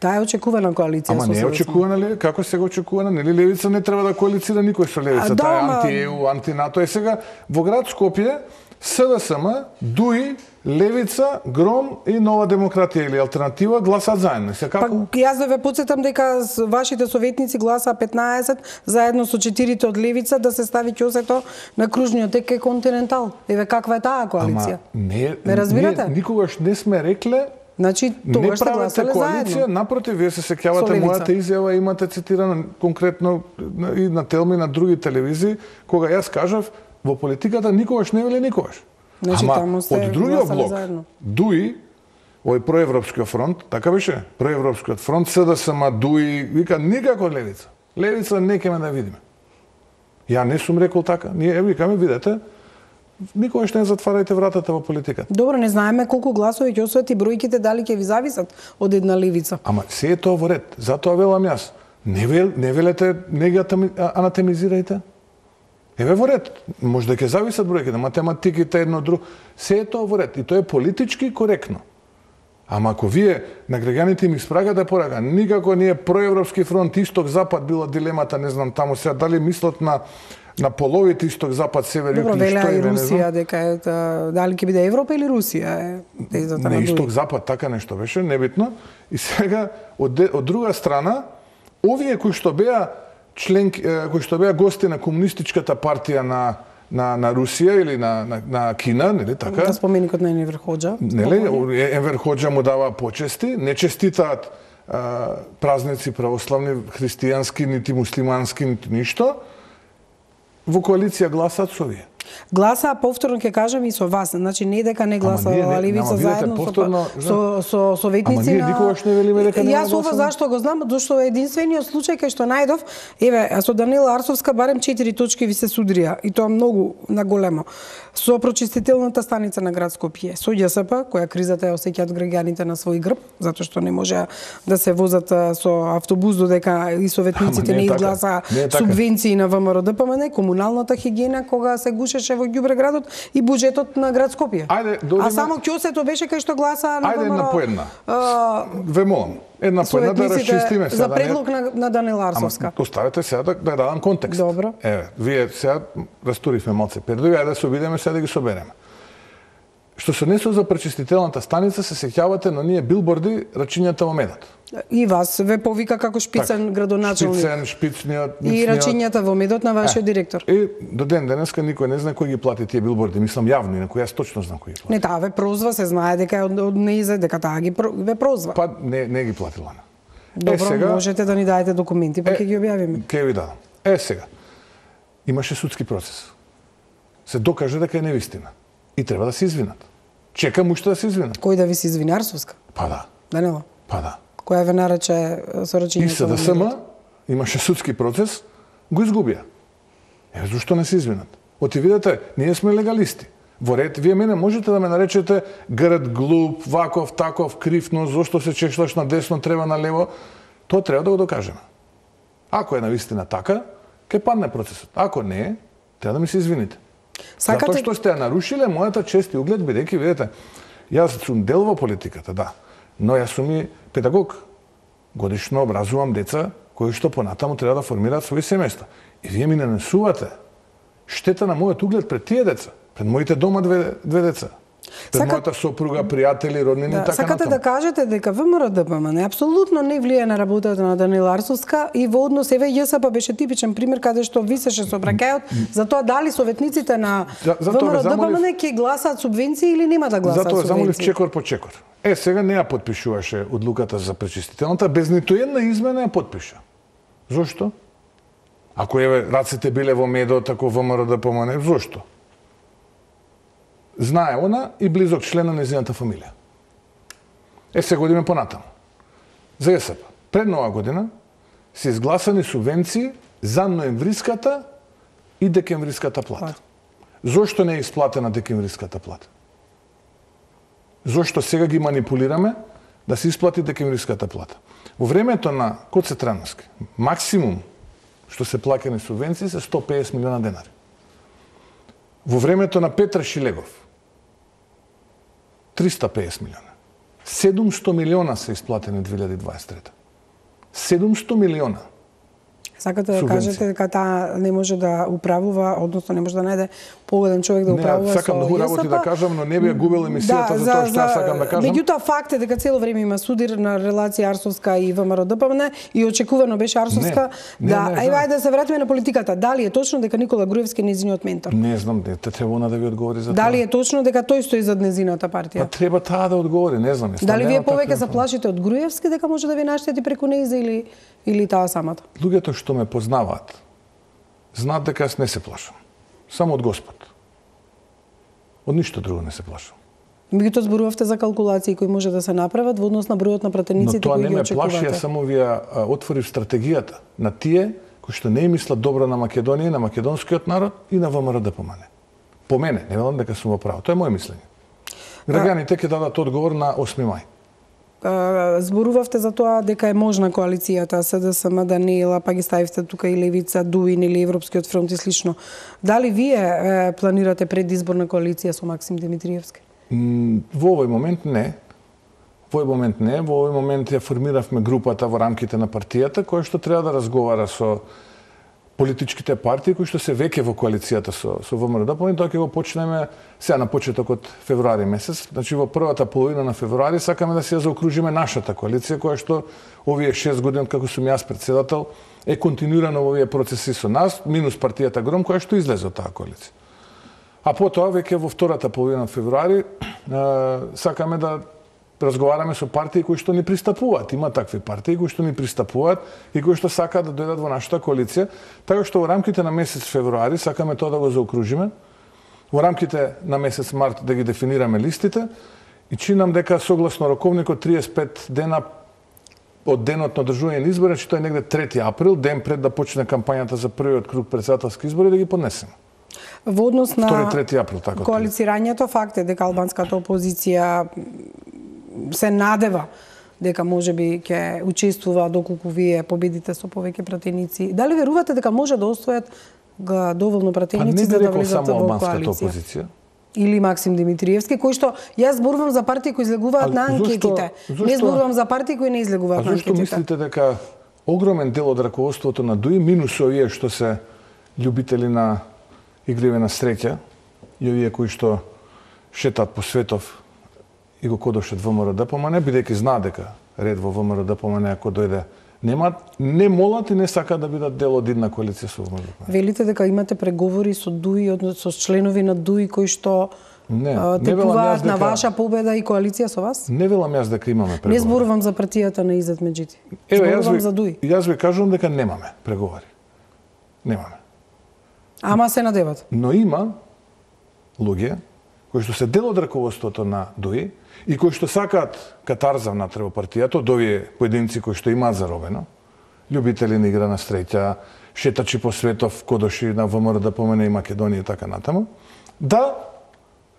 Таа е очекувана коалиција. Ама не е очекувана ли? Како сега очекувана? Нели Левица не треба да коалицира никој со Левица. Таа е анти-ЕУ, анти-НАТО. Е сега во град Скопје СДСМ, ДУИ, Левица, Гром и Нова демократија или алтернатива гласаат заедно. Па јас да ве потсетам дека вашите советници гласаа 15 заедно со 4 од Левица да се стави ќосето на кружниот тек кај Континентал. Еве каква е таа коалиција? Ама не разбирате? Никогаш не сме рекле Значи тогаш сте гласале заедно. Напротив, вие се сеќавате мојата изјава, имате цитирано конкретно и на Телми, на други телевизии, кога јас кажав во политиката никогаш не вели никогаш. Значи, ама од другиот блок, заедно. ДУИ, овој проевропскиот фронт, така беше, проевропскиот фронт, СДСМ, ДУИ, вика никако левица. Левица не ќе ме да видиме. Ја не сум рекол така. Ние викаме, видете, никогаш не затварајте вратата во политиката. Добро, не знаеме колку гласови ќе освојат и бројките дали ќе ви зависат од една левица. Ама се е тоа во ред. Затоа велам јас. Не велете, не ги анатемизирајте. Еве во ред. Може да ќе зависат бројките, математиките едно друго. Се е тоа во ред и тоа е политички коректно. Ама ако вие на граѓаните им испрагате порака, никако не е проевропски фронт, исток-запад била дилемата, не знам таму сега дали мислат на половите исток-запад, север, југ, добро, велеа и Русија дека е дали ќе биде Европа или Русија е тезата на не исток-запад, така нешто беше, небитно. И сега од друга страна, овие кои што беа кои што беа гости на комунистичката партија на Русија или на Кина, нели така? На споменикот на Енвер Хоџа. Нели, Енвер Хоџа му дава почести, не честитаат празници православни, христијански, нити муслимански, нити ништо. Во коалиција гласаат со вие. Гласаа повторно ќе кажам и со вас, значи не дека не гласаа левица заедно со советници на. Ама ние никогаш не велиме дека не гласаме. Јас ова зашто го знам, зашто е единствениот случај кај што најдов, еве, со Данила Арсовска барем 4 точки ви се судрија и тоа многу на големо. Со прочистителната станица на град Скопје, со ЈСП, која кризата ја осеќаат граѓаните на свој грб, затоа што не можеа да се возат со автобус додека и советниците не изгласаа субвенции на ВМРО ДПМН, комуналната хигиена кога се гушеше во ѓубреградот и буџетот на град Скопје. А само ќосето беше кај што гласаа на ВМРО. Ајде една по една. Ве молам, една по една да расчистиме сега. За предлог на Данила Арсовска. Оставете сега да дадам контекст. Добро. Еве, вие сега растуривме малце пердови, ајде да се обидеме сега да ги собереме. Што се однесува за пречистителната станица, се сеќавате на ние билборди рачињата во медот. И вас ве повика како шпицен градоначалник. Шпицен, шпицниот, и рачињата во медот на вашиот директор. И до ден денеска никој не знае кој ги плати тие билборди, мислам јавно, инаку јас точно знам кој ги плати. Не, таа ве прозва, се знае дека е од неизе, дека таа ги ве прозва. Па не ги платила. Добро, сега, можете да ни дадете документи, па ќе ги објавиме. Ќе ви дадам. Сега. Имаше судски процес. Се докаже дека е невистина. И треба да се извинат. Чекам уште да се извинат. Кој да ви се извини, Арсовска? Па да. Данило? Па да. Која ве нарече со рачињето? И СДСМ имаше судски процес, го изгубија. Зошто не се извинат? Оти видите, ние сме легалисти. Во ред, вие мене можете да ме наречете грд, глуп, ваков, таков, крив, но зошто се чешлаш на десно, треба на лево? Тоа треба да го докажеме. Ако е навистина така, ќе падне процесот. Ако не е, треба да ми се извините. Затоа што сте ја нарушиле мојата чест и углед, бидејќи, видите, јас сум дел во политиката, да, но јас сум и педагог. Годишно образувам деца кои што понатаму треба да формираат своји семејства. И вие ми нанесувате штета на мојот углед пред тие деца, пред моите дома две деца. Пред мојата сопруга, пријатели, роднини и така сакате натаму. да кажете дека ВМРО ДПМН апсолутно не влие на работата на Данила Арсовска и во однос еве ЈСП беше типичен пример каде што висеше сообраќајот за тоа дали советниците на ВМРО ДПМН ќе гласаат субвенции или нема да гласаат субвенции. Затоа замолив чекор по чекор. Сега не ја потпишуваше одлуката за пречистителната, без ниту една измена ја потпиша. Зошто? Ако еве раците биле во медот, ако ВМРО ДПМН, зошто? Знае она и близок член на нејзината фамилија. Сега одиме понатаму. За ЈСП. Пред нова година се изгласани субвенции за ноемвриската и декемвриската плата. Зошто не е исплатена декемвриската плата? Зошто сега ги манипулираме да се исплати декемвриската плата? Во времето на Коце Трановски, максимум што се плаќани субвенции се 150 милиона денари. Во времето на Петар Шилегов 350 милиона. 700 милиона се исплатени 2023. 700 милиона. Сакате да кажете дека таа не може да управува, односно не може да најде погоден човек да управува со Не, сакам многу работи да кажам, но не би ја губел емисијата за тоа што ја сакам да кажам. Меѓутоа факт е дека цело време има судир на релација Арсовска и ВМРО ДПМН и очекувано беше Арсовска ајде да се вратиме на политиката. Дали е точно дека Никола Груевски е нејзиниот ментор? Не знам, треба она да ви одговори за тоа. Дали е точно дека тој стои зад нејзината партија? Па треба таа да одговори, не знам. Дали вие повеќе се плашите од Груевски дека може да ви наштети преку нејза или таа самата? Луѓето што ме познаваат знаат дека јас не се плашам. Само од Господ. Од ништо друго не се плашам. Меѓутоа зборувавте за калкулации кои може да се направат во однос на бројот на пратениците кои ги очекувате. Но тоа не ме плаши, ја само ви ја отворив стратегијата на тие кои што не мислат добро на Македонија, на македонскиот народ и на ВМРО ДПМН. По мене, не велам дека сум во право. Тоа е моје мислење. Граѓаните ќе дадат одговор на 8 мај. Зборувавте за тоа дека е можна коалицијата СДСМ, Даниела, па ги ставивте тука и Левица, Дуин или Европскиот фронт и слично. Дали вие планирате предизборна коалиција со Максим Димитриевски? Во овој момент не. Во овој момент ја формиравме групата во рамките на партијата која што треба да разговара со политичките партии кои што се веќе во коалицијата со ВМРО ДПМН, тоа ќе го почнеме сега на почеток од февруари месец. Значи во првата половина на февруари сакаме да се ја заокружиме нашата коалиција која што овие 6 години како сум јас председател е континуирано во овие процеси со нас, минус партијата Гром која што излезе од таа коалиција. А потоа веќе во втората половина на февруари сакаме да разговараме со партии кои што ни пристапуваат. Има такви партии кои што ни пристапуваат и кои што сакаат да дојдат во нашата коалиција, така што во рамките на месец февруари сакаме тоа да го заокружиме. Во рамките на месец март да ги дефинираме листите и чинам дека согласно роковникот 35 дена од денот на одржување на избори, тоа е негде 3 април, ден пред да почне кампањата за првиот круг претседателски избори, да ги поднесеме. Во однос на 2-3 април, така. Коалицирањето, факт е дека албанската опозиција се надева дека можеби ќе учествува доколку вие победите со повеќе пратеници. Дали верувате дека може да остојат доволно пратеници за да влезат во коалиција? Или Максим Димитриевски, кој што јас зборувам за партии кои излегуваат на анкетите. Не зборувам за партии кои не излегуваат на анкетите. А зашто мислите дека огромен дел од раководството на ДУИ, минус овие што се љубители на игриве на среќа и овие кои што шетат по светов и го кодошат ВМРО ДПМН, бидејќи знаат дека ред во ВМРО ДПМН ако дојде не молат и не сакаат да бидат дел од една коалиција со ВМРО ДПМН. Велите дека имате преговори со ДУИ, со членови на ДУИ кои што тепуваат на ваша победа и коалиција со вас? Не велам јас дека имаме преговори. Не зборувам за партијата на Изет Меджити. Зборувам за ДУИ. Јас ви кажувам дека немаме преговори. Немаме. Ама се надеват. Но има луѓе кои што се дел од раководството на ДУИ и кои што сакаат катарза внатре во партијата, од овие поединци кои што имаат заробено, љубители на игра на среќа, шетачи по светов, кодоши на ВМРО ДПМН и Македонија и така натаму, да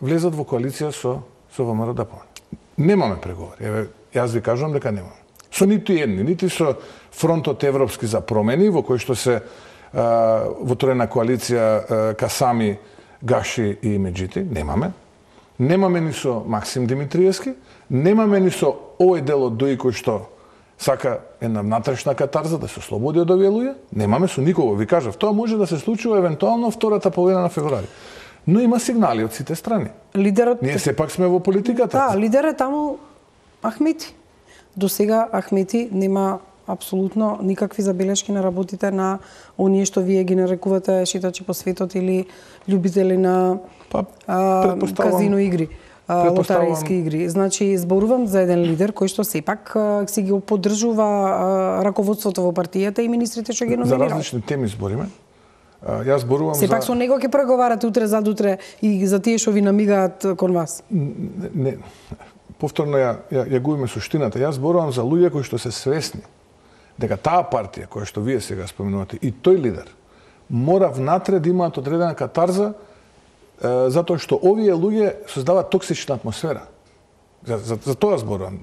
влезат во коалиција со ВМРО ДПМН. Немаме преговори. Еве, јас ви кажувам дека немаме. Со ниту едни, нити со фронтот европски за промени, во кој што се воторена коалиција Касами, Гаши и Меджити, немаме. Немаме ни со Максим Димитриевски, немаме ни со овој дел од ДУИ кој што сака една внатрешна катарза да се ослободи од овие луѓе, немаме со никого. Ви кажав, тоа може да се случува евентуално втората половина на февруари. Но има сигнали од сите страни. Лидерот... Ние сепак сме во политиката. Да, лидер е таму Ахмети. До сега Ахмети нема апсолутно никакви забелешки на работите на оние што вие ги нарекувате шетачи по светот или љубители на казино игри, лотаријски игри. Значи, зборувам за еден лидер кој што сепак си ги поддржува раководството во партијата и министрите што ги номинирал. За различни теми збориме. Јас зборувам сепак со него ќе преговарате утре задутре и за тие што ви намигаат кон вас. Не. Повторно ја губиме суштината. Јас зборувам за луѓе кои што се свесни дека таа партија која што вие сега споменувате и тој лидер мора внатре да имаат одредена катарза затоа што овие луѓе создаваат токсична атмосфера. За тоа зборувам.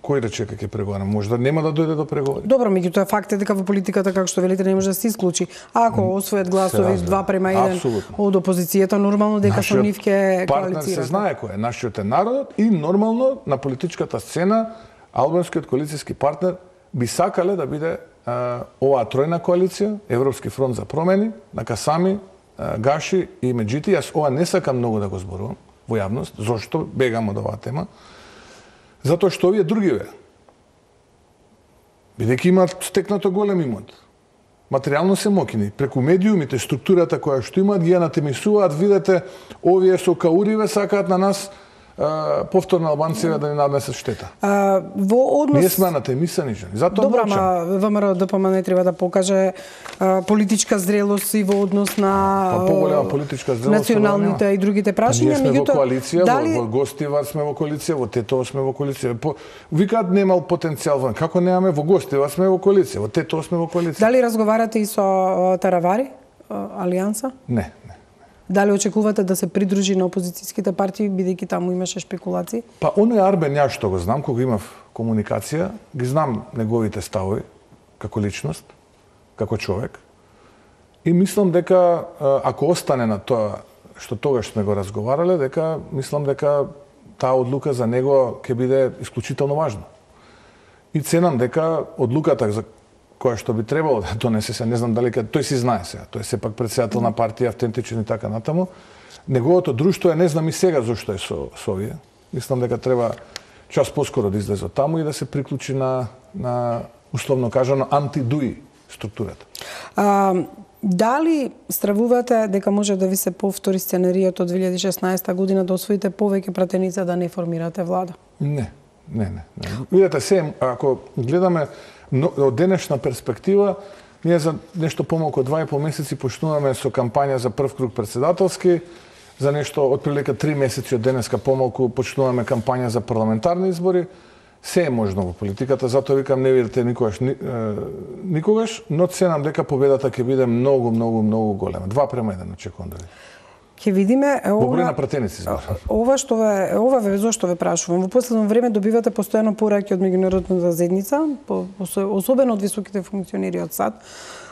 Кој рече дека ќе преговарам? Може да нема да дојде до преговори. Добро, меѓутоа факт е дека во политиката, како што велите, не може да се исклучи. Ако освојат гласови 2:1 од опозицијата, нормално дека со нив ќе коалицираат. Партнер се знае кој е, нашиот е народот и нормално на политичката сцена албанскиот коалицијски партнер би сакале да биде оваа тројна коалиција, Европски фронт за промени, на Касами, гаши и меѓути, јас ова не сакам многу да го зборувам во јавност. Зошто бегам од оваа тема? Затоа што овие другиве, бидејќи имаат стекнато голем имот, материјално се мокини, преку медиумите, структурата која што имаат, ги ја натемисуваат, видете, овие со кауриве сакаат на нас повторно албанците да ни наднесат штета. Во однос... Ние сме натемисани жени, затоа Добра, мовчам. ама ВМРО ДПМН треба да покаже политичка зрелост и во однос на поголема политичка зрелост националните и другите прашања. Ние сме во коалиција, дали... во Гостивар сме во коалиција, во Тетово сме во коалиција. Викаат немал потенцијал, како немаме во Гостивар сме во коалиција, во Тетово сме во коалиција. Дали разговарате и со Таравари, Алијанса? Не. Дали очекувате да се придружи на опозицијските партии, бидејќи таму имаше шпекулации? Па, оној Арбен, ја што го знам, кога имав комуникација, ги знам неговите ставови, како личност, како човек. И мислам дека, ако остане на тоа што тогаш сме го разговарале, дека, мислам дека таа одлука за него ќе биде исклучително важна. И ценам дека одлуката за која што би требало да донесе се, не знам дали тој си знае сега, тој е сепак претседател на партија, автентичен и така натаму. Неговото друштво е, не знам и сега зошто е со овие. Мислам дека треба час поскоро да излезе од таму и да се приклучи на условно кажано антидуи структурата. Дали стравувате дека може да ви се повтори сценаријот од 2016 година да освоите повеќе пратеници да не формирате влада? Не. Видете се, ако гледаме од денешна перспектива, ние за нешто помалку од 2,5 месеци почнуваме со кампања за прв круг председателски, за нешто отприлика 3 месеци од денеска помалку почнуваме кампања за парламентарни избори. Се е можно во политиката, затоа викам не видите никогаш, но ценам дека победата ќе биде многу голема. 2:1 очекувам да видам. Ќе видиме во број на пратеници збор. Ова зошто ве прашувам. Во последно време добивате постојано пораки од меѓународната заедница, особено од високите функционери од САД.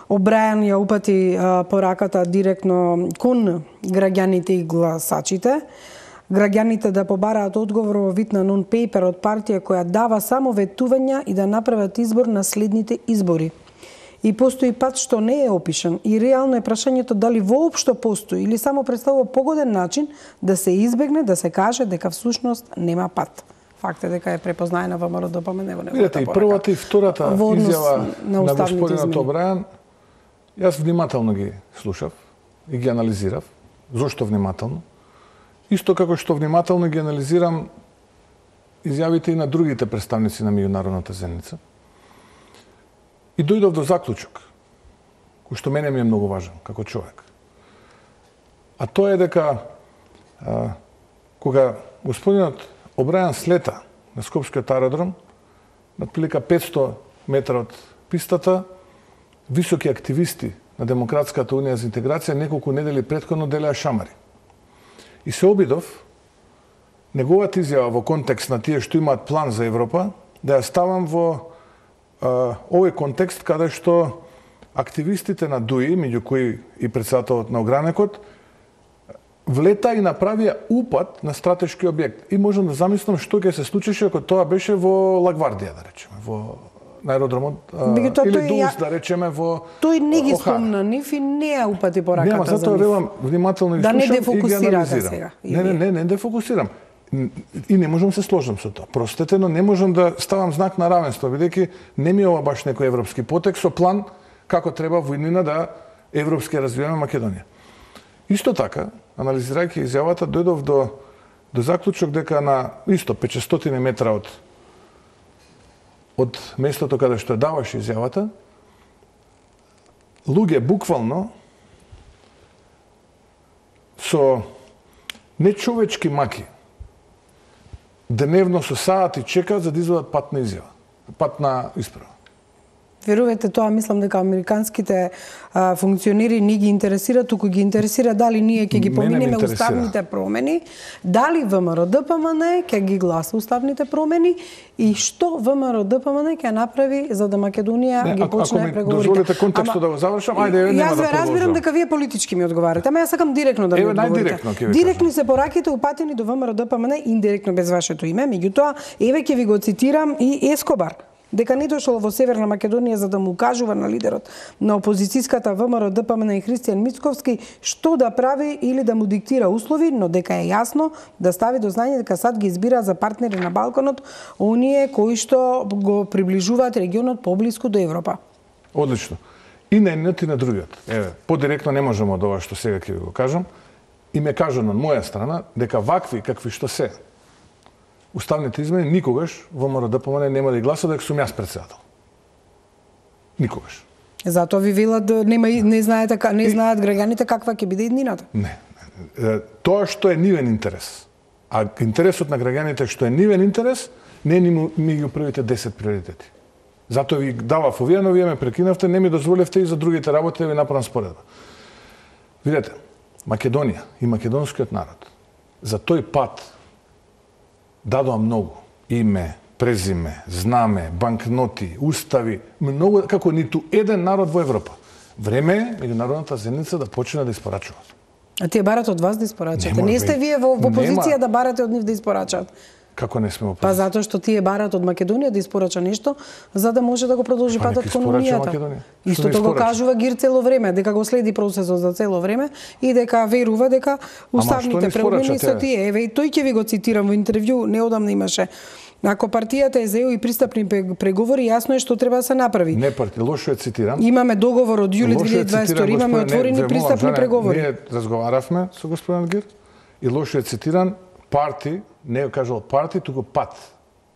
Обрајан ја упати пораката директно кон граѓаните и гласачите. Граѓаните да побараат одговор во вид на нон-пейпер од партија која дава само ветувања и да направат избор на следните избори. И постои пат што не е опишан и реално е прашањето дали воопшто постои или само представува погоден начин да се избегне да се каже дека всушност нема пат. Факт е дека е препознаена ВМРО ДПМН во неговата порака. Видете, и првата и втората изјава на господинот Обрајан, јас внимателно ги слушав и ги анализирав. Зошто внимателно? Исто како што внимателно ги анализирам изјавите и на другите представници на меѓународната заедница. И дојдов до заклучок, кој што мене ми е многу важен, како човек. А тоа е дека, кога господинот Обрајан слета на Скопскиот аеродром, на отприлика 500 метра од пистата, високи активисти на Демократската унија за интеграција неколку недели претходно делеа шамари. И се обидов неговата изјава во контекст на тие што имаат план за Европа, да ја ставам во овој контекст каде што активистите на ДУИ, меѓу кои и председателот на огранекот, влета и направија упад на стратешки објект. И можам да замислам што ќе се случише ако тоа беше во Лагвардија, да речеме, на аеродромот, или Дулс, да речеме, во Тој не ги спомна нив и не ја упати пораката за нив. Затоа велам внимателно ги слушам и ги анализирам. Сега. Не дефокусирам. И не можам се сложам со тоа. Простете, но не можам да ставам знак на равенство, бидејќи не ми е ова баш некој европски потек со план како треба во иднина да европски развиваме Македонија. Исто така, анализирајќи изјавата, дојдов до заклучок дека на исто 500 метра од местото каде што даваше изјавата, луѓе буквално со нечовечки маки дневно со сати чекаат за да извадат патна изјава, патна исправа. Верувате тоа, мислам дека американските функционери не ги интересира, туку ги интересира дали ние ќе ги поминеме уставните промени, дали ВМРО ДПМН ќе ги гласа уставните промени и што ВМРО ДПМН ќе направи за да Македонија ги почне преговорите. Ако ми дозволите контекстот да го завршам, ајде нема да продолжам. Јас разбирам дека вие политички ми одговарате, ама јас сакам директно да ми одговорите. Директно се пораките упатени до ВМРО ДПМН индиректно без вашето име, меѓутоа еве ќе ви го цитирам и Ескобар. дека не дошол во Северна Македонија за да му кажува на лидерот на опозицијската ВМРО ДПМН и Христијан Мицковски што да прави или да му диктира услови, но дека е јасно да стави до знање дека САД ги избира за партнери на Балканот оние кои што го приближуваат регионот поблиску до Европа. Одлично. И на едниот и на другиот. Еве, подиректно не можеме од ова што сега ќе ви го кажам. И ме кажано од моја страна дека вакви какви што се уставните измени никогаш ВМРО ДПМН нема да ги гласа дека сум јас председател. Никогаш. Затоа ви велат не знаат граѓаните каква ќе биде иднината. Не. Тоа што е нивен интерес. А интересот на граѓаните што е нивен интерес не е ми ги првите 10 приоритети. Затоа ви давав овие, но вие ме прекинавте, не ми дозволевте и за другите работи да ви направам споредба. Видете, Македонија и македонскиот народ за тој пат дадоа многу. Име, презиме, знаме, банкноти, устави, многу како ниту еден народ во Европа. Време е меѓународната заедница да почне да испорачува. А тие барат од вас да испорачате. Не сте вие во позиција да барате од нив да испорачат. Како не сме во позиција? Па затоа што тие барат од Македонија да испорача нешто за да може да го продолжи патот кон Унијата. Истото го кажува Гир цело време, дека го следи процесот за цело време и дека верува дека уставните промени се тие. Еве и тој ќе ви го цитирам во интервју, неодамна имаше. Ако партијата е за ЕУ и пристапни преговори, јасно е што треба да се направи. Не партија, лошо е цитиран. Имаме договор од јули 2022, имаме отворени пристапни преговори. Ние разговаравме со господин Гир и лошо е цитиран парти, не е кажал парти, туку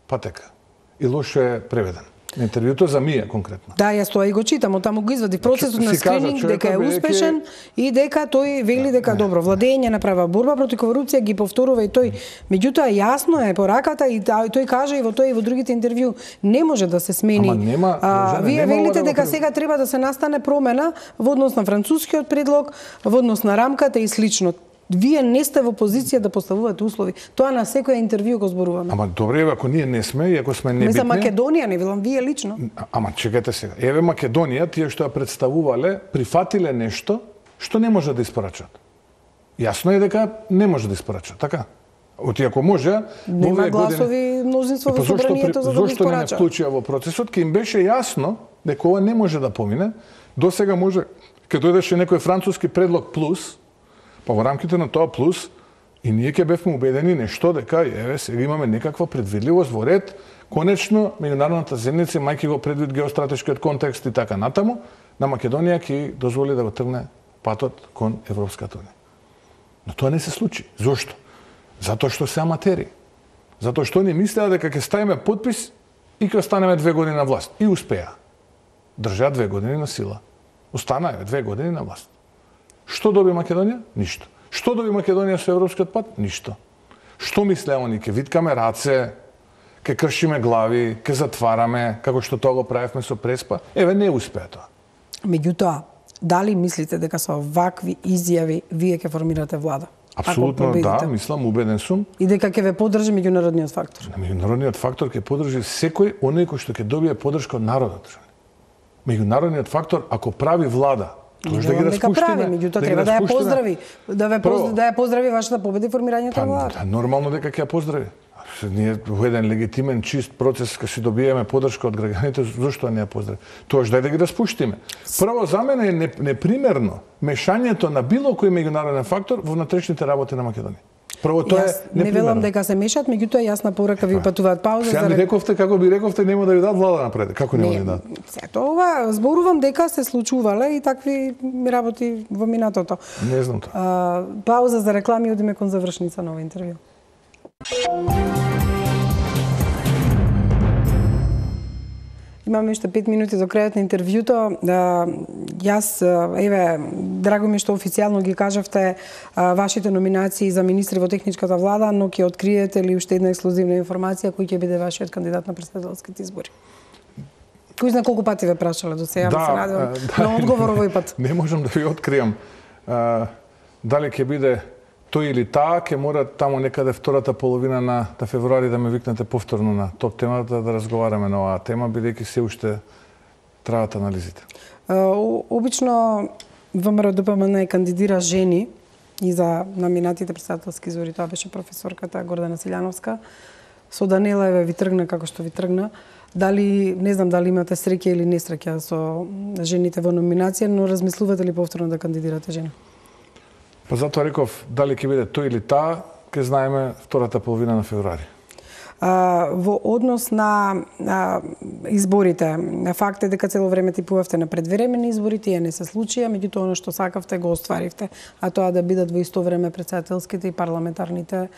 патека. И лошо е преведен. Интервјуто за Мија конкретно. Да, јас тоа и го читам, таму го извади процесот на скрининг дека е успешен и дека тој вели дека добро владење направа борба против корупција, ги повторува и тој. Меѓутоа јасно е пораката и тој кажа и во тој и во другите интервју не може да се смени. Вие велите дека сега треба да се настане промена во однос на францускиот предлог, во однос на рамката и слично. Вие не сте во позиција да поставувате услови. Тоа на секој интервју го зборуваме. Ама добре, ако ние не сме и ако сме небитни... Не за Македонија, не велам вие лично. Ама чекајте сега. Еве Македонија, тие што ја представувале, прифатиле нешто што не може да испорачат. Јасно е дека не може да испорачат, така? Оти ако може, нема гласови мнозинство во собранието за да го испорачат. Зошто не вклучија во процесот, ке им беше јасно дека ова не може да помине. До сега може, кога дојдеше некој француски предлог плюс, па во рамките на тоа плюс, и ние ќе бевме убедени нешто дека еве сега имаме некаква предвидливост во ред, конечно меѓународната заедница, мајки го предвид геостратешкиот контекст и така натаму, на Македонија ќе дозволи да го тргне патот кон Европската унија. Но тоа не се случи. Зошто? Затоа што се аматери. Затоа што они мислеа дека ќе ставиме подпис и ќе останеме 2 години на власт. И успеа. Држа 2 години на сила. Останаа 2 години на власт. Што доби Македонија? Ништо. Што доби Македонија со европскиот пат? Ништо. Што мислеа они? Ке виткаме раце, ке кршиме глави, ке затвараме, како што тоа го правевме со Преспа? Еве, не успеа тоа. Меѓутоа, дали мислите дека со вакви изјави вие ќе формирате влада? Апсолутно да, мислам, убеден сум. И дека ќе ве поддржи меѓународниот фактор? Меѓународниот фактор ќе поддржи секој оној кој што ќе добие поддршка од народот. Меѓународниот фактор, ако прави влада, тоа да ги распуштиме, меѓутоа треба да ја поздрави, да ја поздрави вашата победа и формирањето на влада. Нормално дека ќе ја поздрави. Ние во еден легитимен, чист процес кога си добиеме поддршка од граѓаните, зошто не ја поздрави? Тоа дај да ги распуштиме. Прво за мене е непримерно мешањето на било кој меѓународен фактор во внатрешните работи на Македонија. Прво тоа е непримерно. Не велам дека се мешат, меѓутоа јасна порака ви упатуваат пауза. Сега ми рековте, како би рековте, нема да ви дадат влада напред. Како нема да ви дадат? Тоа зборувам дека се случувале и такви работи во минатото. Не знам тоа. Пауза за реклами, одиме кон завршница на овој интервју. Имаме уште 5 минути до крајот на интервјуто. Јас, еве, драго ми што официјално ги кажавте вашите номинации за министри во техничката влада, но ќе откриете ли уште една ексклузивна информација кој ќе биде вашиот кандидат на претседателските избори? Кој знае колку пати ве прашале до сега, се надевам на одговор овој пат. Не можам да ви откриам дали ќе биде тој или таа, ќе мора таму некаде втората половина на февруари да ме викнете повторно на топ темата да разговараме на оваа тема, бидејќи се уште траат анализите. Обично ВМРО ДПМН кандидира жени и за номинатите претседателски избори, тоа беше професорката Гордана Силјановска. со Данела еве ви тргна како што ви тргна. Дали, не знам дали имате среќа или несреќа со жените во номинација, но размислувате ли повторно да кандидирате жена? Па затоа реков, дали ќе биде тој или таа, ќе знаеме втората половина на февруари. Во однос на изборите, факт е дека цело време типувавте на предвремени избори, тие не се случија, меѓутоа оно што сакавте го остваривте, а тоа да бидат во исто време претседателските и парламентарните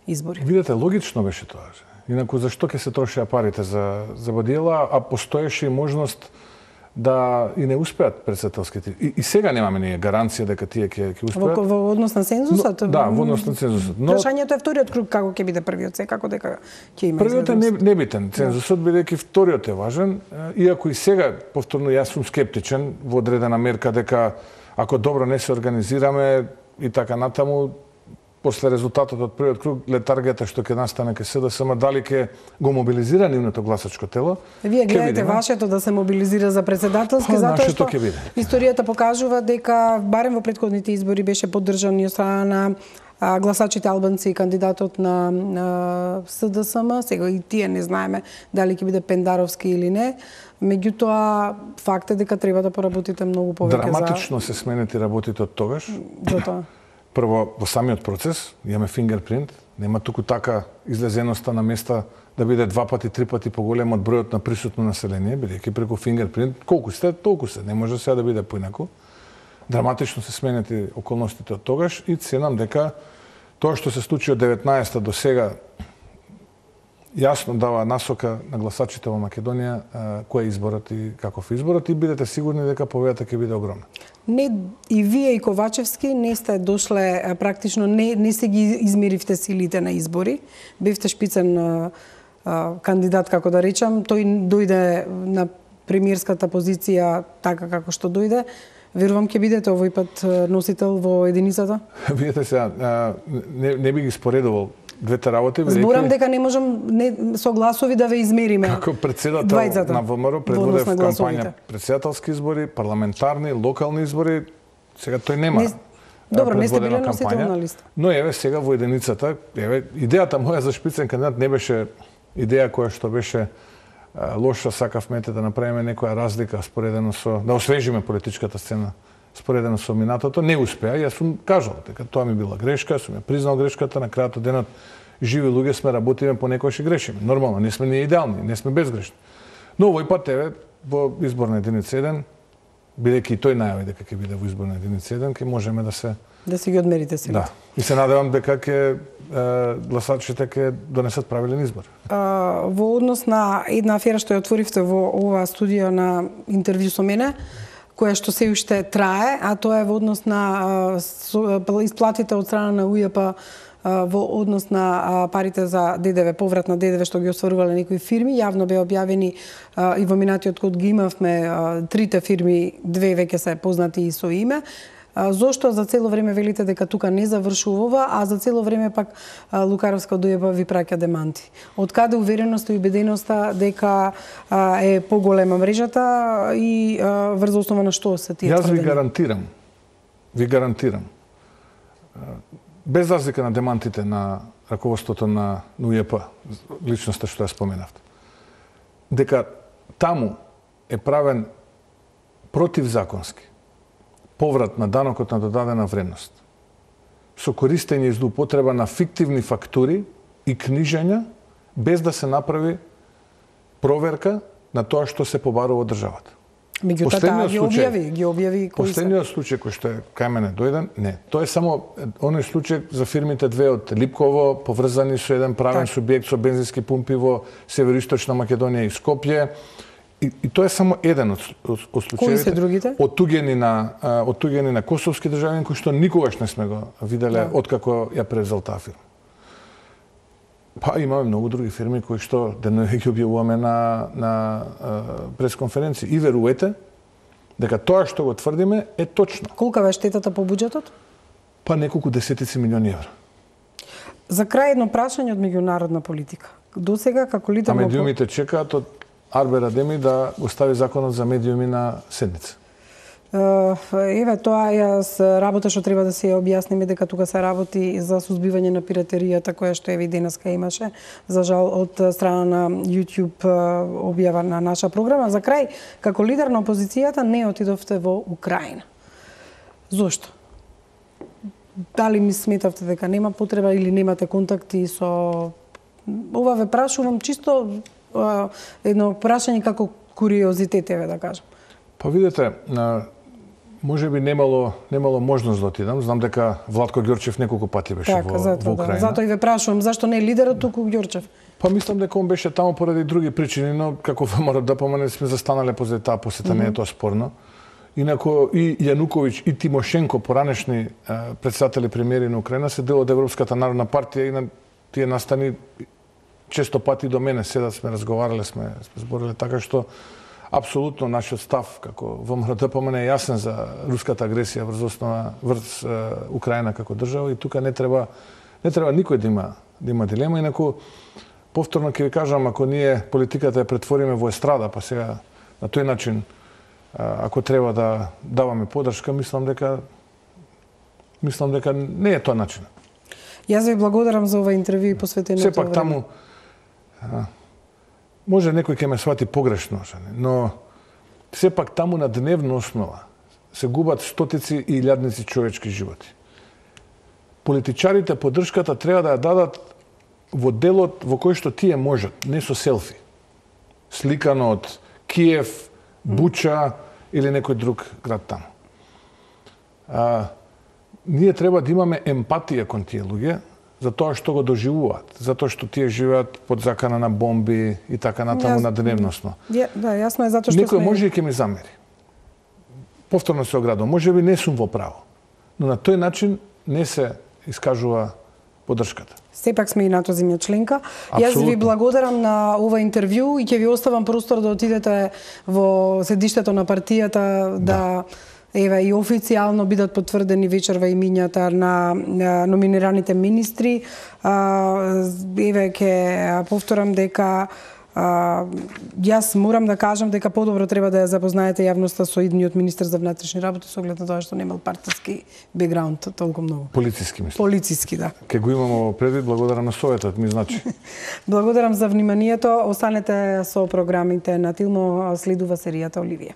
избори. Видете, логично беше тоа. Инаку зашто ќе се трошеа парите за бодиела, а постоеше и можност да и не успеат претседателските. И сега немаме ние гаранција дека тие ќе успеат. Во однос на цензусот? Да, во однос на цензусот. Но прашањето е вториот круг како ќе биде првиот, секако дека ќе има. Првиот е небитен, цензусот бидејќи вториот е важен, иако и сега повторно јас сум скептичен во одредена мерка дека ако добро не се организираме и така натаму, после резултатот од првиот круг, летаргијата што ќе настане ке СДСМ, дали ќе го мобилизира нивното гласачко тело. Вие гледате вашето да се мобилизира за претседателски, затоа што историјата покажува дека барем во претходните избори беше поддржан и од страна на гласачите албанци и кандидатот на СДСМ. Сега и тие не знаеме дали ќе биде Пендаровски или не. Меѓутоа, факт е дека треба да поработите многу повеќе. Драматично се сменети работите од тогаш. Затоа. Прво, во самиот процес, имаме фингерпринт, нема туку така излезеноста на места да биде 2 пати, 3 пати поголем од бројот на присутно население, бидејќи преку фингерпринт, колку сте, толку се, не може сега да биде поинаку. Драматично се сменети околностите од тогаш и ценам дека тоа што се случи од 19-та до сега јасно дава насока на гласачите во Македонија кој е изборот и каков е изборот и бидете сигурни дека победата ќе биде огромна. Не, и вие и Ковачевски не сте дошле, практично не се ги измеривте силите на избори. Бевте шпицен кандидат, како да речам. Тој дојде на премиерската позиција така како што дојде. Верувам ќе бидете овој пат носител во единицата? Видете сега, не би ги споредувал двете работи. Зборам дека не можам со гласови да ве измериме. Како председател на ВМРО предводев кампања председателски избори, парламентарни, локални избори. Сега тој нема. Добро, не сте биле носител на листа. Но еве сега во единицата, еве идејата моја за шпицен кандидат не беше идеја која што беше лоша, сакавме да направиме некоја разлика споредено со да освежиме политичката сцена споредено со минатото, не успеа. Јас сум кажал дека тоа ми била грешка, сум ја признал грешката, на крајот од денот живи луѓе сме, работиме, понекогаш и грешиме. Нормално, не сме ние идеални, не сме безгрешни. Но овој пат еве во изборна единица 1, бидејќи тој најави дека ќе биде во изборна единица 1, ќе можеме да си ги одмерите силите. Да. И се надевам дека ќе гласачите ќе донесат правилен избор. Во однос на една афера што ја отворивте во оваа студија на интервју со мене, која што се уште трае, а тоа е во однос на исплатите од страна на УЈП во однос на парите за ДДВ, поврат на ДДВ што ги остварувале некои фирми. Јавно беа објавени и во минатиот код ги имавме трите фирми, две веќе се познати и со име. Зошто за цело време велите дека тука не завршува, а за цело време пак Лукаровска ДУЈП ви праќа деманти? Од каде увереноста и убеденоста дека е поголема мрежата и врз основа на што се тие тврдења? Јас ви гарантирам, без разлика на демантите на раководството на УЈП, личноста што ја споменавте, дека таму е правен противзаконски поврат на данокот на додадена вредност, со користење и злоупотреба на фиктивни фактури и книжења, без да се направи проверка на тоа што се побарува од државата. Меѓутоа таа ги објави кои се. Последниот случај кој што е кај мене дојден, не. Тоа е само оној случај за фирмите две од Липково, поврзани со еден правен субјект со бензински пумпи во североисточна Македонија и Скопје. И тоа е само еден од случаите. Кои се другите? Оттуѓени на косовски државјани кои што никогаш не сме го виделе откако ја превзел таа фирма. Па имаме многу други фирми кои што денови ги објавуваме на пресконференции. И верувате дека тоа што го тврдиме е точно. Колка е штетата по буџетот? Па неколку десетици милиони евра. За крај едно прашање од меѓународна политика. Досега како лидер на медиумите чекаат од Арбер Адеми да го стави законот за медиуми на седница. Еве, тоа е работа што треба да се објасниме, дека тука се работи за сузбивање на пиратеријата, која што еви денеска имаше, за жал, од страна на YouTube објава на наша програма. За крај, како лидер на опозицијата, не отидовте во Украина. Зошто? Дали ми сметавте дека нема потреба или немате контакти со... Ова ве прашувам чисто едно прашање како куриозитет, еве да кажам. Па видете, може би немало можност да отидам. Знам дека Владко Ѓорчев неколку пати беше во Украина. Затоа и ве прашувам, зашто не е лидерот туку Ѓорчев? Па мислам дека он беше таму поради други причини, но како ВМРО сме застанале позади таа посета, не е тоа спорно. Инако и Јануковиќ и Тимошенко, поранешни председатели премиери на Украина, се дел од Европската народна партија и на тие настани често пати до мене седат, сме разговарале, сме збориле, така што апсолутно нашиот став како ВМРО е јасен за руската агресија врз Украина како држава и тука не треба никој да има дилема. Инаку повторно ќе ви кажам, ако ние политиката ја претвориме во естрада, па сега на тој начин ако треба да даваме поддршка, мислам дека не е тоа начин. Јас ви благодарам за ова интервју и посветеното време. Сепак таму може некој ќе ме свати погрешно, но сепак таму на дневна основа се губат стотици и илјадници човечки животи. Политичарите поддршката треба да ја дадат во делот во кој што тие можат, не со селфи. Сликано од Киев, Буча или некој друг град таму. Ние треба да имаме емпатија кон тие луѓе за тоа што го доживуваат, затоа што тие живеат под закана на бомби и така натаму на дневносно. Да, јасно е затоа што некој може и ќе ми замери. Повторно се оградувам, можеби не сум во право, но на тој начин не се искажува поддршката. Сепак сме и НАТО земја членка. Јас ви благодарам на ова интервју и ќе ви оставам простор да отидете во седиштето на партијата да еве и официјално бидат потврдени вечерва имињата на номинираните министри. Еве ќе повторам дека јас морам да кажам дека подобро треба да ја запознаете јавноста со идниот министер за внатрешни работи со оглед на тоа што немал партиски бекграунд толку многу. Полициски мислам. Полициски, да. Ке го имамо предвид, благодарам на советот, ми значи. Благодарам за вниманието. Останете со програмите на Тилно, следува серијата Оливија.